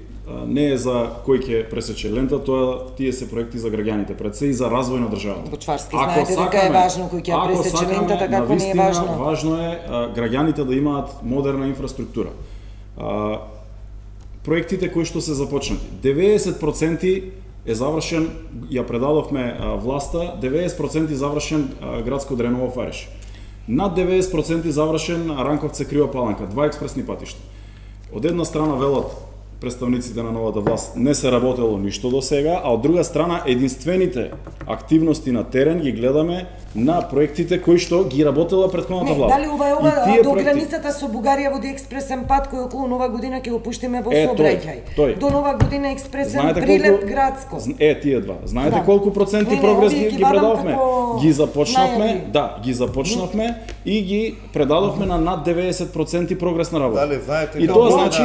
не е за кој ќе пресече лента, тоа тие се проекти за граѓаните, пред се и за развој на државата. Бочварски знаете дека е важно кој ќе пресече лентата, како не е важно. Важно е граѓаните да имаат модерна инфраструктура. Проектите кои што се започнати, 90% е завршен, ја предадовме власта, 90% завршен градско Дреново Фариш. Над 90% завршен Ранковце Крива Паланка, 2 експресни патишта. Од една страна велат представниците на новата власт не се работело ништо до сега, а од друга страна единствените активности на терен ги гледаме на проектите кои што ги работела претходната влада. Дали ова до границата со Бугарија води експресен пат кој околу нова година ќе го пуштиме во сообраќај. До нова година експресен прилеп градско. Тие два. Знаете колку проценти прогрес ги предадовме? Ги започнавме, ги започнавме и ги предадовме на над 90% прогрес на работа. Дали знаете и тоа значи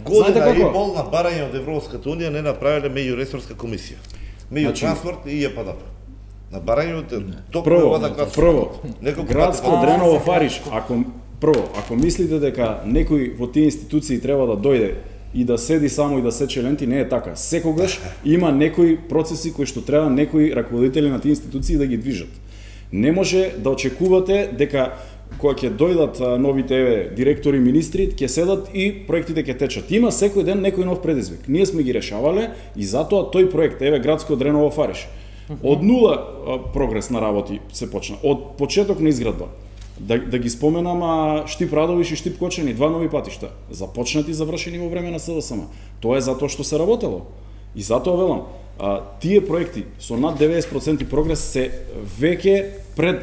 година и пол на барање од Европската унија не направиле меѓуресорска комисија. Меѓу транспорт и јПДП. На барање од прво, градско Дреново Фариш, ако мислите дека некој во тие институции треба да дојде и да седи само и да сече ленти, не е така. Секогаш има некои процеси кои што треба некои раководители на тие институции да ги движат. Не може да очекувате дека кога ќе дојдат новите директори, министри, ќе седат и проектите ќе течат. Има секој ден некој нов предизвик. Ние сме ги решавале и затоа тој проект, градско Дреново Фариш, од нула прогрес на работи се почна. Од почеток на изградба. Да ги споменам Штип Радовиш и Штип Кочани, 2 нови патишта, започнати и завршени во време на СДСМ. Тоа е затоа што се работело. И затоа велам, тие проекти со над 90% прогрес се веќе пред,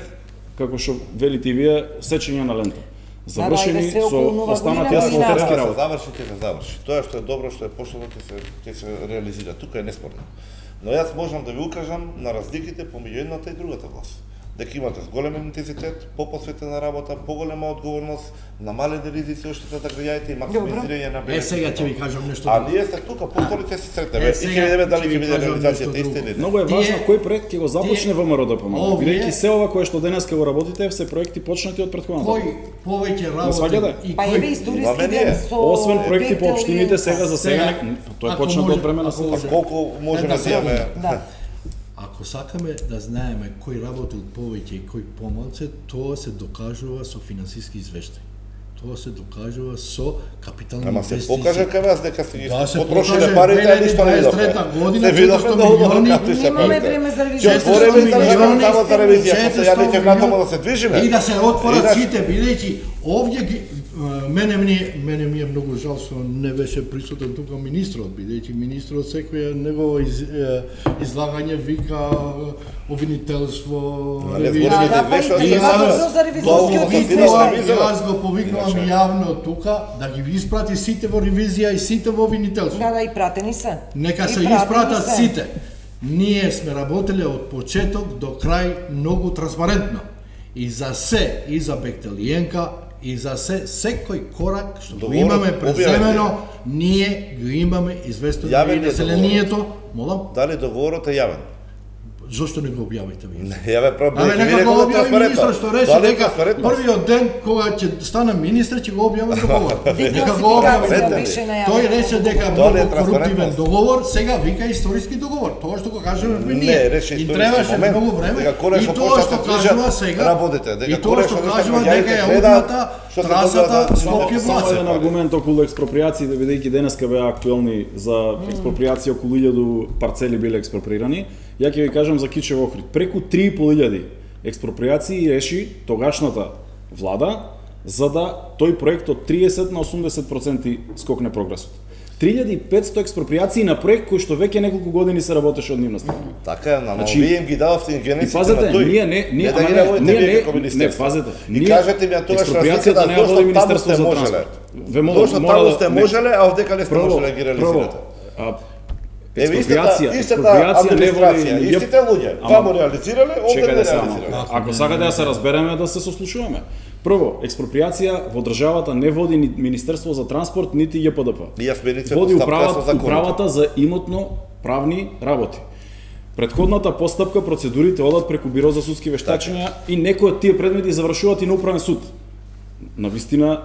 како што велите и вие, сечење на лента. Завршени со останати асфалтерски работи. Се заврши. Тоа што е добро, што е пошло, ќе се реализира. Тука е неспорно. Но јас можам да ви укажам на разликите помеѓу едната и другата власт. Дека имате голем интензитет, попосветена работа, поголема одговорност, намалени ризици од да граѓаните и максимизирање на бенефит. Сега ќе ви кажам нешто. А ние сте тука, повторите се сретнеме и ќе видиме дали ќе биде реализацијата иста или не. Многу е важно кој проект ќе го започне ВМРО ДПМН. Бидејќи се ова кое што денеска го работите се проекти почнати од претходната. Кој повеќе работи и кој историски ден со освен проекти по општините сега за сега тоа е почнато од време на СДСМ. Колку можеме да имаме? Ако сакаме да знаеме кој работил повеќе и кој помалце, тоа се докажува со финансиски извештај. Тоа се докажува со капитални инвестиции. Ама се покажа кај вас дека се ги потрошиле парите, а ништо не видовме. Се видовме да милиони. Немаме време за ревизија. Ќе отвориме државна само за ревизија, па ја не ќе вратомо да се движиме. И да се отворат сите, бидејќи овде ги мене ми е многу жал што не беше присутен тука министрот, бидејќи министрот секој негово излагање вика обвинителство, ревизија. Јас го повикнувам јавно тука да ги испрати сите во ревизија и сите во обвинителство. Да, и пратени се. Нека се испратат сите. Ние сме работеле од почеток до крај многу транспарентно. И за се, и за Бехтелиенка, и за секој корак што го имаме преземено, ние го имаме известено и населението. Молам? Дали договорот е јавен? Зошто не го објавите ви? Не, јаве проблем. Нека го објави министр што рече дека првиот ден кога ќе стане министр ќе го објави договор. Нека го објави. Тој рече дека многу коруптивен договор, сега вика историски договор. Тоа што го кажеме ние. Не, рече историски момент. Многу време. И тоа што кажува сега. И тоа што кажува дека е одната трасата Скопје-Враца. Еден аргумент околу експроприациите, бидејќи денеска беа актуелни за експроприација, околу 1000 парцели биле експроприирани. Ја ќе ви кажам за Кичево Охрид. Преку 3500 експроприации реши тогашната влада за да тој проект од 30 на 80% скокне прогресот. 3500 експроприации на проект кој што веќе неколку години се работеше од нивна страна. Така е, но вие им ги дававте генетиците на тој. Не, пазете. И кажете ми тогаш разликата не води Министерство за транспорт. Зошто таму сте можеле, а овдека не сте можеле да ги реализирате? Експроприација администрација, истите луѓе, таму реализирале, овде не реализирале. Ако сакате да се разбереме, да се сослушуваме. Прво, експроприација во државата не води ни Министерство за транспорт, нити ЈПДП. Води управата за имотно правни работи. Предходната постапка, процедурите одат преку Биро за судски вештачења и некои од тие предмети завршуваат и на управен суд. Навистина,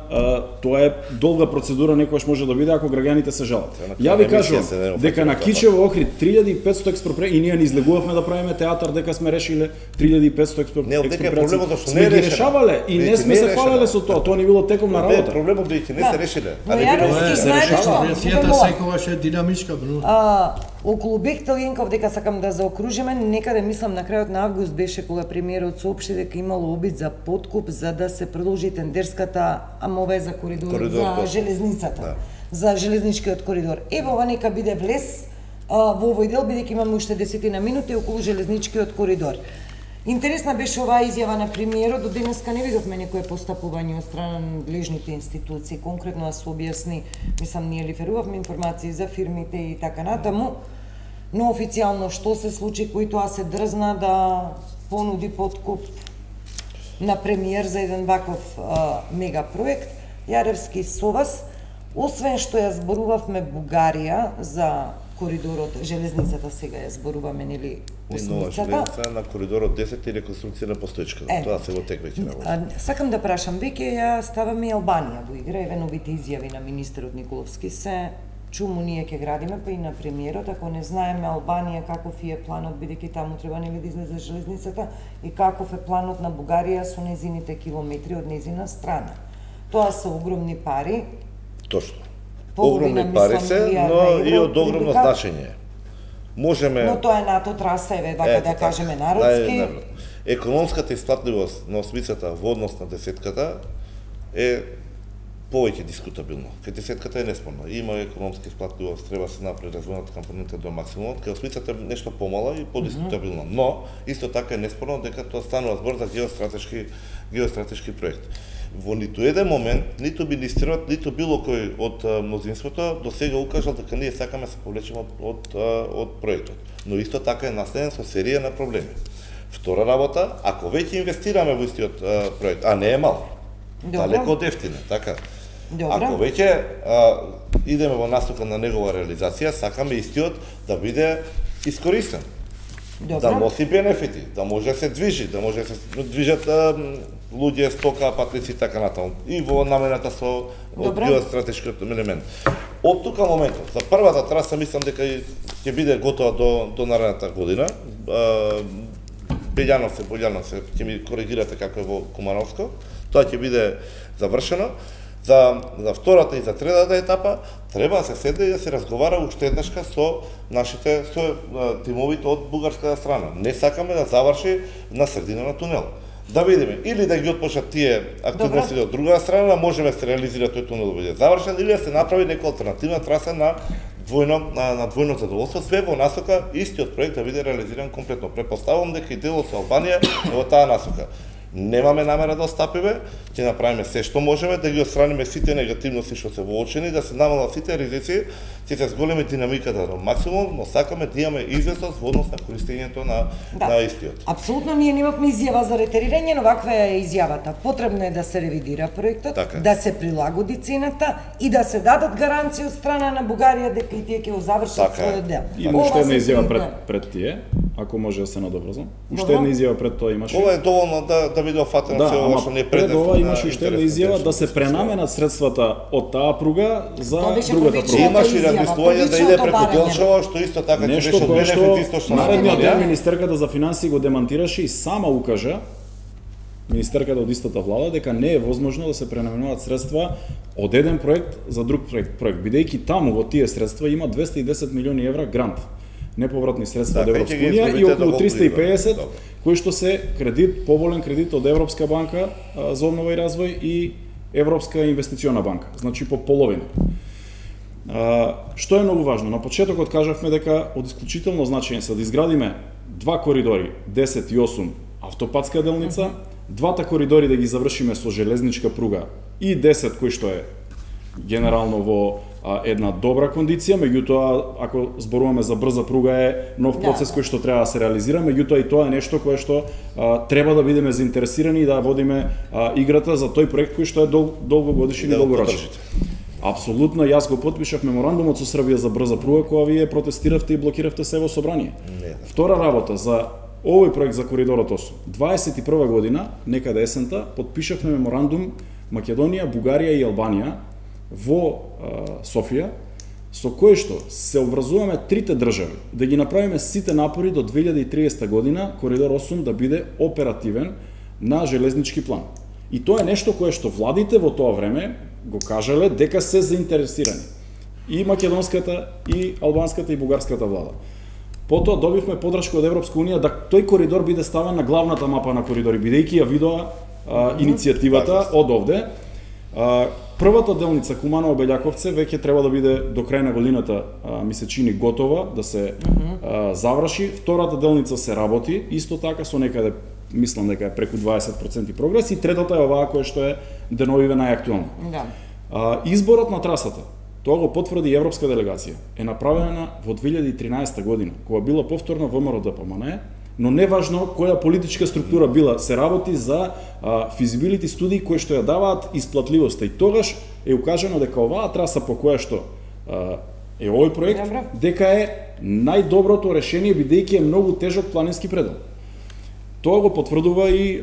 тоа е долга процедура, некојаш може да биде ако граѓаните се жалат. Ја ви кажувам дека на Кичево Охрид 3500 експроприации и ние не излегувавме да правиме театар дека сме решиле 3500 експроприации. Сме ги решавале и не сме се фалеле со тоа, тоа не било теком на работа. Проблемот дека не се решиле. Реализацијата секогаш е динамичка. Околу Бехтелиенков, дека сакам да заокружиме, некаде мислам на крајот на август беше кога премиерот соопшти дека имало обид за подкуп за да се продолжи тендерската ова за коридорот за железницата, за железничкиот коридор. Ево ова нека биде влез во овој дел, бидејќи имаме уште 10 минути околу железничкиот коридор. Интересна беше оваа изјава на премиерот, до денеска не видовме некое постапување од страна на надлежните институции, конкретно да се објасни, мислам, ние лиферувавме информации за фирмите и така натаму, но официјално што се случи, кој тоа се дрзна да понуди подкуп на премиер за еден ваков мегапроект. Јаревски со вас, освен што ја зборувавме Бугарија за коридорот, железницата сега ја зборуваме, нели, осмицата. На коридорот 10 и реконструкција на постоечката. Тоа се во тек веќе работи. Сакам да прашам, веќе ја ставаме и Албанија во игра, еве новите изјави на министерот Николовски се чуму ние ќе градиме, па и на премиерот, ако не знаеме Албанија каков е планот, бидејќи таму треба нели да излезе железницата, и каков е планот на Бугарија со незините километри од незина страна. Тоа се огромни пари. Точно. Половина, Огромни пари мислам, се, милиарда но евро, и од огромно отприлика. значење. Можеме... Но тоа е НАТО траса, еве, вака да кажеме народски. Економската исплатливост на осмицата во однос на десетката е повеќе дискутабилно. Кај десетката е неспорна. Има економска исплатливост, треба се направи развојната компонента до максимумот, кај осмицата е нешто помала и подискутабилно. Но исто така е неспорно дека тоа станува збор за геостратешки проект. Во ниту еден момент, ниту министерот, ниту било кој од мнозинството до сега укажал дека ние сакаме се повлечеме од проектот. Но исто така е наследен со серија на проблеми. Втора работа, ако веќе инвестираме во истиот проект, а не е мал, далеко од ефтино, така. Ако веќе идеме во насока на негова реализација, сакаме истиот да биде искористен. Да носи бенефити, да може да се движи, да може да се движат луѓе, стока, патници и така натаму. И во намената со геостратешкиот елемент. Од тука моментот, за првата траса мислам дека ќе биде готова до наредната година. Бољановци, ќе ми коригирате како е во Кумановско. Тоа ќе биде завршено. За втората и за третата етапа треба да се седне и да се разговара уште еднашка со тимовите од бугарската страна. Не сакаме да заврши на средина на тунел. Да видиме, или да ги отпочнат тие активности од друга страна, можеме да се реализира тој тунел да биде завршен, или да се направи нека алтернативна траса на двојно задоволство, све во насока истиот проект да биде реализиран комплетно. Претпоставувам дека и делот со Албанија е во таа насока. Немаме намера да остапиме, ќе направиме се што можеме, да ги отстраниме сите негативности што се воочени, да се намалат сите ризици, ќе се зголеми динамиката до максимум, но сакаме да имаме известност во однос на користењето на истиот. Апсолутно, ние немавме изјава за ретерирање, но ваква е изјавата. Потребно е да се ревидира проектот, да се прилагоди цената и да се дадат гаранции од страна на Бугарија дека и тие ќе го завршат својот дел. Има уште една изјава пред тие, ако може да се надобрзам. Уште една изјава пред тоа имаше. Ова е доволно да биде офатено се ова што не е пред ова имаше уште една изјава да се пренаменат средствата од таа пруга за другата пруга. Имаше размислување да иде преку Делчево, што исто така ќе беше бенефит исто што наредниот ден министерката за финансии го демантираше и сама укажа, министерката од истата влада, дека не е возможно да се пренаменуваат средства од еден проект за друг проект, бидејќи таму во тие средства има 210 милиони евра грант, неповратни средства од Европска унија и околу 350 кои што се кредит, поволен кредит од Европска банка за обнова и развој и Европска инвестициона банка, значи по половина. Што е многу важно? На почетокот кажавме дека од исклучително значење се да изградиме два коридори, 10 и 8 автопатска делница, двата коридори да ги завршиме со железничка пруга и 10 кој што е генерално во една добра кондиција, меѓутоа ако зборуваме за брза пруга е нов процес кој што треба да се реализира, меѓутоа и тоа е нешто кое што треба да бидеме заинтересирани и да водиме играта за тој проект кој што е долгогодишен и долгорочен. Апсолутно, јас го потпишав меморандумот со Србија за брза пруга која вие протестиравте и блокиравте се во собрание. Втора работа за овој проект за коридорот 8. 21 година, некаде есента, потпишавме меморандум Македонија, Бугарија и Албанија во Софија, со кој што се обврзуваме трите држави да ги направиме сите напори до 2030 година коридор 8 да биде оперативен на железнички план. И тоа е нешто кое што владите во тоа време го кажале дека се заинтересирани. И македонската, и албанската, и бугарската влада. Потоа добивме подршка од Европска унија да тој коридор биде ставен на главната мапа на коридори, бидејќи ја видоа иницијативата од овде. Првата делница Куманово-Белјаковце веќе треба да биде до крај на годината, ми се чини, готова да се заврши. Втората делница се работи, исто така со некаде, мислам дека е преку 20% прогрес, и третата е оваа која што е деновиве најактуелна. Изборот на трасата, тоа го потврди европска делегација, е направена во 2013 година, кога била повторно ВМРО ДПМНЕ, но неважно која политичка структура била, се работи за физибилити студии кои што ја даваат исплатливоста, и тогаш е укажано дека оваа траса по која што е овој проект, дека е најдоброто решение, бидејќи е многу тежок планински предел. Тоа го потврдува и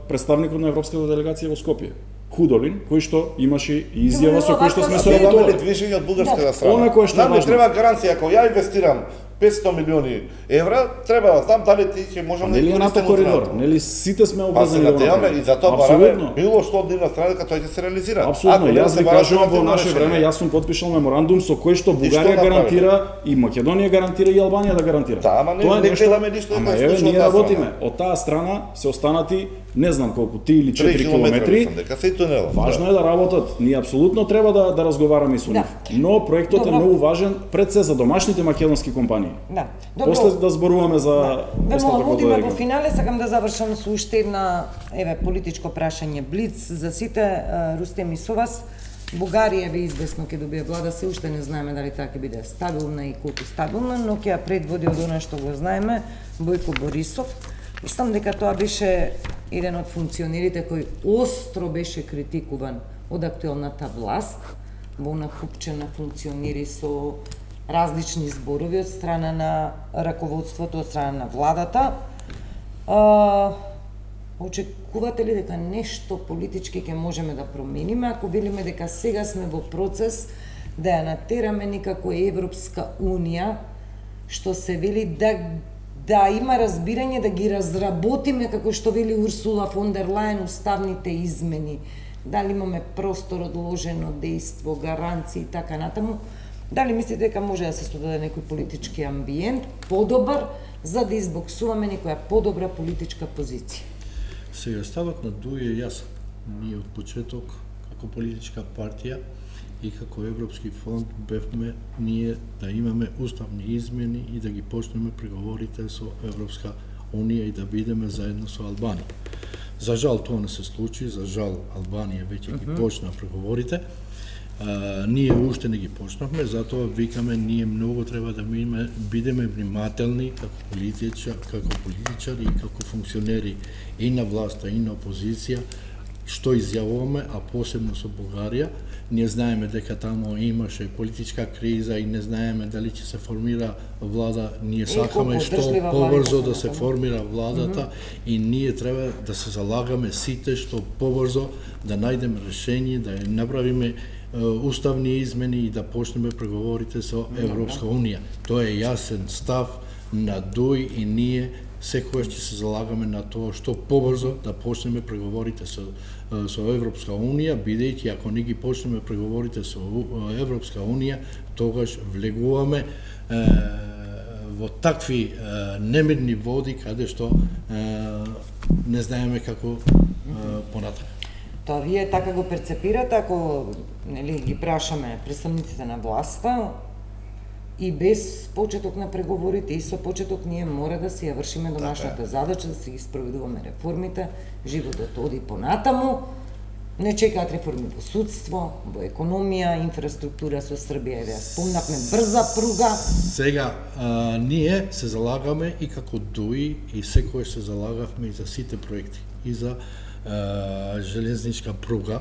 представникот на европската делегација во Скопје. Худолин, кој што имаше и изјава со кој што сме Тоа е соработували. движење од бугарската страна. Она кое што е Нам ми важно. треба гаранција, ако ја инвестирам 500 милиони евра, треба да знам дали ти ќе можам да Нели е НАТО коридор, нели сите сме обврзани да да направиме и затоа Апсолутно. бараме било што од нивна страна дека тој ќе се реализира. Апсолутно, јас ви кажувам во наше решение. време, јас сум потпишал меморандум со кој што што Бугарија направи? гарантира и Македонија гарантира и Албанија да гарантира. Да, ама не- Тоа е не нешто- гледаме ништо Ама да се еве случи од ние таа работиме. страна. Од таа страна се останати не знам колку 3 или 4 3 километри километри. дека се и тунелот. Важно е да работат. Ние апсолутно треба да разговараме и со нив. Но проектот е Добро. многу важен пред се за домашните македонски компании. Да. Добро. После да зборуваме за Вемо остатокот одиме од во регион. финале, сакам да завршам со уште една политичко прашање блиц за сите. Рустем и со вас. Бугарија ви известно ќе добие влада, се уште не знаеме дали таа ќе биде стабилна и колку стабилна, но ќе ја предводи од она што го знаеме Бојко Борисов. Мислам дека тоа беше еден од функционерите кој остро беше критикуван од актуелната власт, во она купче на функционери со различни зборови од страна на раководството, од страна на владата. Очекувате ли дека нешто политички ќе можеме да промениме, ако велиме дека сега сме во процес да ја натераме некако Европска Унија, што се вели да има разбирање, да ги разработиме, како што вели Урсула фон дер Лајен, уставните измени, дали имаме простор одложено дејство, гаранции и така натаму, дали мислите дека може да се создаде некој политички амбиент подобар за да избоксуваме некоја подобра политичка позиција? Сега ставот на ДУИ е јасен. Ние од почеток, како политичка партија и како Европски фонд, бевме ние да имаме уставни измени и да ги почнеме преговорите со Европска Унија и да бидеме заедно со Албанија. За жал тоа не се случи, за жал Албанија веќе ги почна преговорите. Ние уште не ги почнавме, затоа викаме ние многу треба да бидеме внимателни како политичари и како функционери и на власта и на опозиција што изјавуваме, а посебно со Бугарија. Ние знаеме дека таму имаше политичка криза и не знаеме дали ќе се формира влада. Ние сакаме што побрзо да се формира владата и ние треба да се залагаме сите што побрзо да најдеме решение, да ја направиме уставни измени и да почнеме преговорите со Европска Унија. Тоа е јасен став на ДУИ и ние секогаш ќе се залагаме на тоа што побрзо да почнеме преговорите со Европска Унија, бидејќи ако не ги почнеме преговорите со Европска Унија, тогаш влегуваме во такви немирни води каде што не знаеме како понатаму. Тоа вие така го перцепирате, ако ги прашаме представниците на власта, и без почеток на преговорите и со почеток ние мора да си ја вршиме домашната задача, да си ги спроведуваме реформите, животот оди понатаму, не чекаат реформи во судство, во економија, инфраструктура со Србија, ја спомнавме брза пруга. Сега, ние се залагаме и како ДУИ и секој се залагавме и за сите проекти, и за железничка пруга.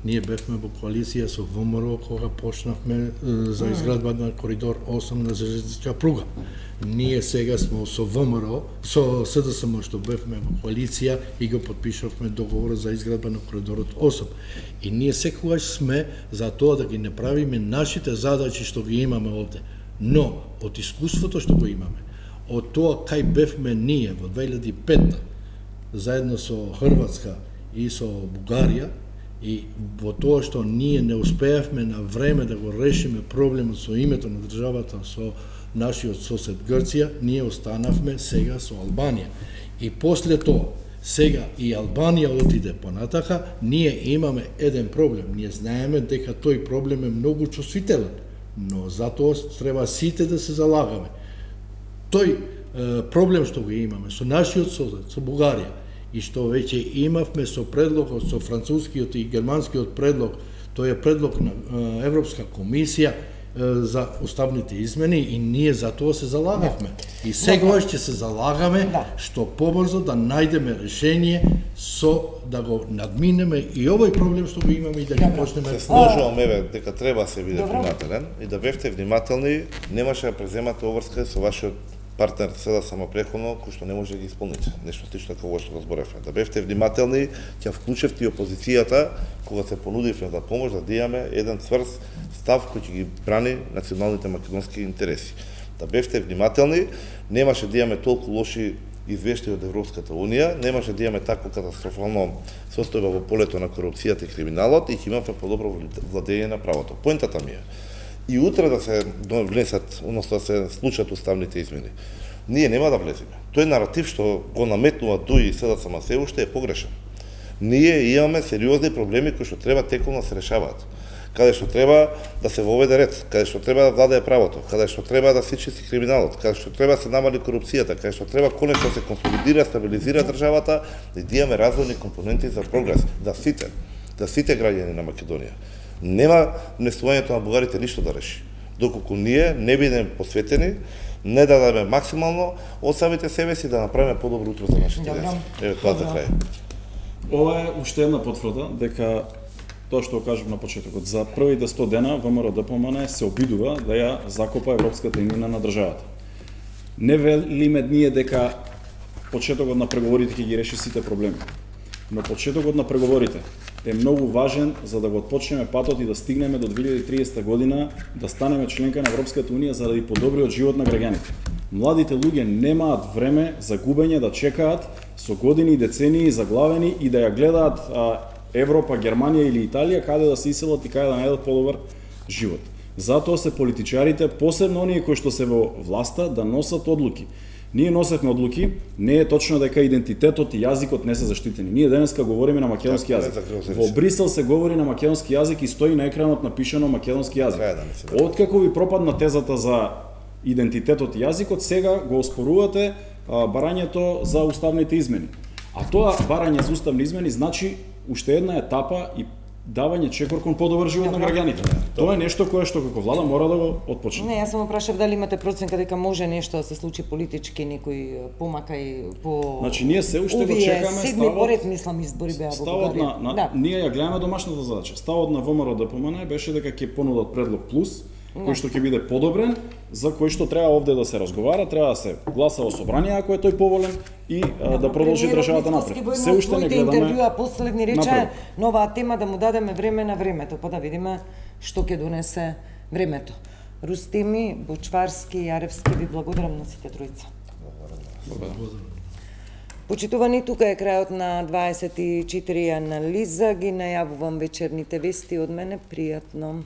Ние бевме во коалиција со ВМРО кога почнавме за изградба на коридор 8 на железничка пруга. Ние сега сме со ВМРО, со СДСМ што бевме во коалиција и го подпишавме договор за изградба на коридорот 8. И ние секогаш сме за тоа да ги направиме нашите задачи што ги имаме овде. Но од искуството што го имаме, од тоа кај бевме ние во 2005 заедно со Хрватска и со Бугарија, и во тоа што ние не успеавме на време да го решиме проблемот со името на државата со нашиот сосед Грција, ние останавме сега со Албанија. И после тоа, сега и Албанија отиде понатака, ние имаме еден проблем. Ние знаеме дека тој проблем е многу чувствителен, но затоа треба сите да се залагаме. Тој проблем што го имаме со нашиот сосед, со Бугарија, и што веќе имавме со предлогот, со францускиот и германскиот предлог, тој е предлог на Европска комисија за уставните измени и ние за тоа се залагавме. И сегаш ќе се залагаме што побрзо да најдеме решение со да го надминеме и овој проблем што го имаме и да ги почнеме. Се сложуваме дека треба се биде внимателен и да бевте внимателни, немаше да преземате обврска со вашиот партнер седа само преходно, кој што не може да ги исполните. Нешто слично како што го зборевме. Да бевте внимателни, ќе вклучевте и опозицијата кога се понудивме за помош да имаме еден цврст став кој ќе ги брани националните македонски интереси. Да бевте внимателни, немаше да имаме толку лоши извештаи од Европската Унија, немаше да имаме такво катастрофално состојба во полето на корупцијата и криминалот и ќе имаме подобро владење на правото. Поентата ми е, и утре да се внесат, односно да се случат уставните измени. Ние нема да влеземе. Тој наратив што го наметнува ДУИ и СДСМ се уште е погрешен. Ние имаме сериозни проблеми кои што треба теколно да се решаваат. Каде што треба да се воведе ред, каде што треба да владее правото, каде што треба да се чисти криминалот, каде што треба да се намали корупцијата, каде што треба конечно да се консолидира, стабилизира државата, да имаме разумни компоненти за прогрес, да сите граѓани на Македонија. Нема внесувањето на бугарите ништо да реши. Доколку ние не бидеме посветени, не дадеме максимално од самите себе си да направиме подобро утро за нашите деца. Еве тоа за крај. Ова е уште една потврда дека тоа што го кажав на почетокот, за првите 100 дена ВМРО-ДПМН се обидува да ја закопа европската имена на државата. Не велиме ние дека почетокот на преговорите ќе ги реши сите проблеми, но почетокот на преговорите е многу важен за да го отпочнеме патот и да стигнеме до 2030 година да станеме членка на Европската Унија заради подобриот живот на граѓаните. Младите луѓе немаат време за губење да чекаат со години и децении заглавени и да ја гледаат Европа, Германија или Италија каде да се иселат и каде да најдат подобар живот. Затоа се политичарите, посебно оние кои што се во власта, да носат одлуки. Ние носевме одлуки, не е точно дека идентитетот и јазикот не се заштитени. Ние денеска говориме на македонски јазик. Во Брисел се говори на македонски јазик и стои на екранот напишано македонски јазик. Откако ви пропадна тезата за идентитетот и јазикот, сега го оспорувате барањето за уставните измени. А тоа барање за уставни измени значи уште една етапа и давање чекор кон подобар живот на граѓаните. Тоа е нешто кое што како влада мора да го отпочне. Не, јас само прашав дали имате проценка дека може нешто да се случи политички, некој помака и по. Значи ние се уште го чекаме седми поред мислам избори беа во Бугарија. Ние ја гледаме домашната задача. Ставот на ВМРО-ДПМН беше дека ќе понудат предлог плюс, кој што ќе биде подобрен, за кој што треба овде да се разговара, треба да се гласа во собрание ако е тој поволен и да продолжи државата напред. Се уште не гледаме. Интервјуа последни рече новаа тема да му дадеме време на времето, па да видиме што ќе донесе времето. Рустими, Бочварски, Јаревски, ви благодарам на сите тројца. Почитувани, тука е крајот на 24 анализа, ги најавувам вечерните вести од мене, пријатно.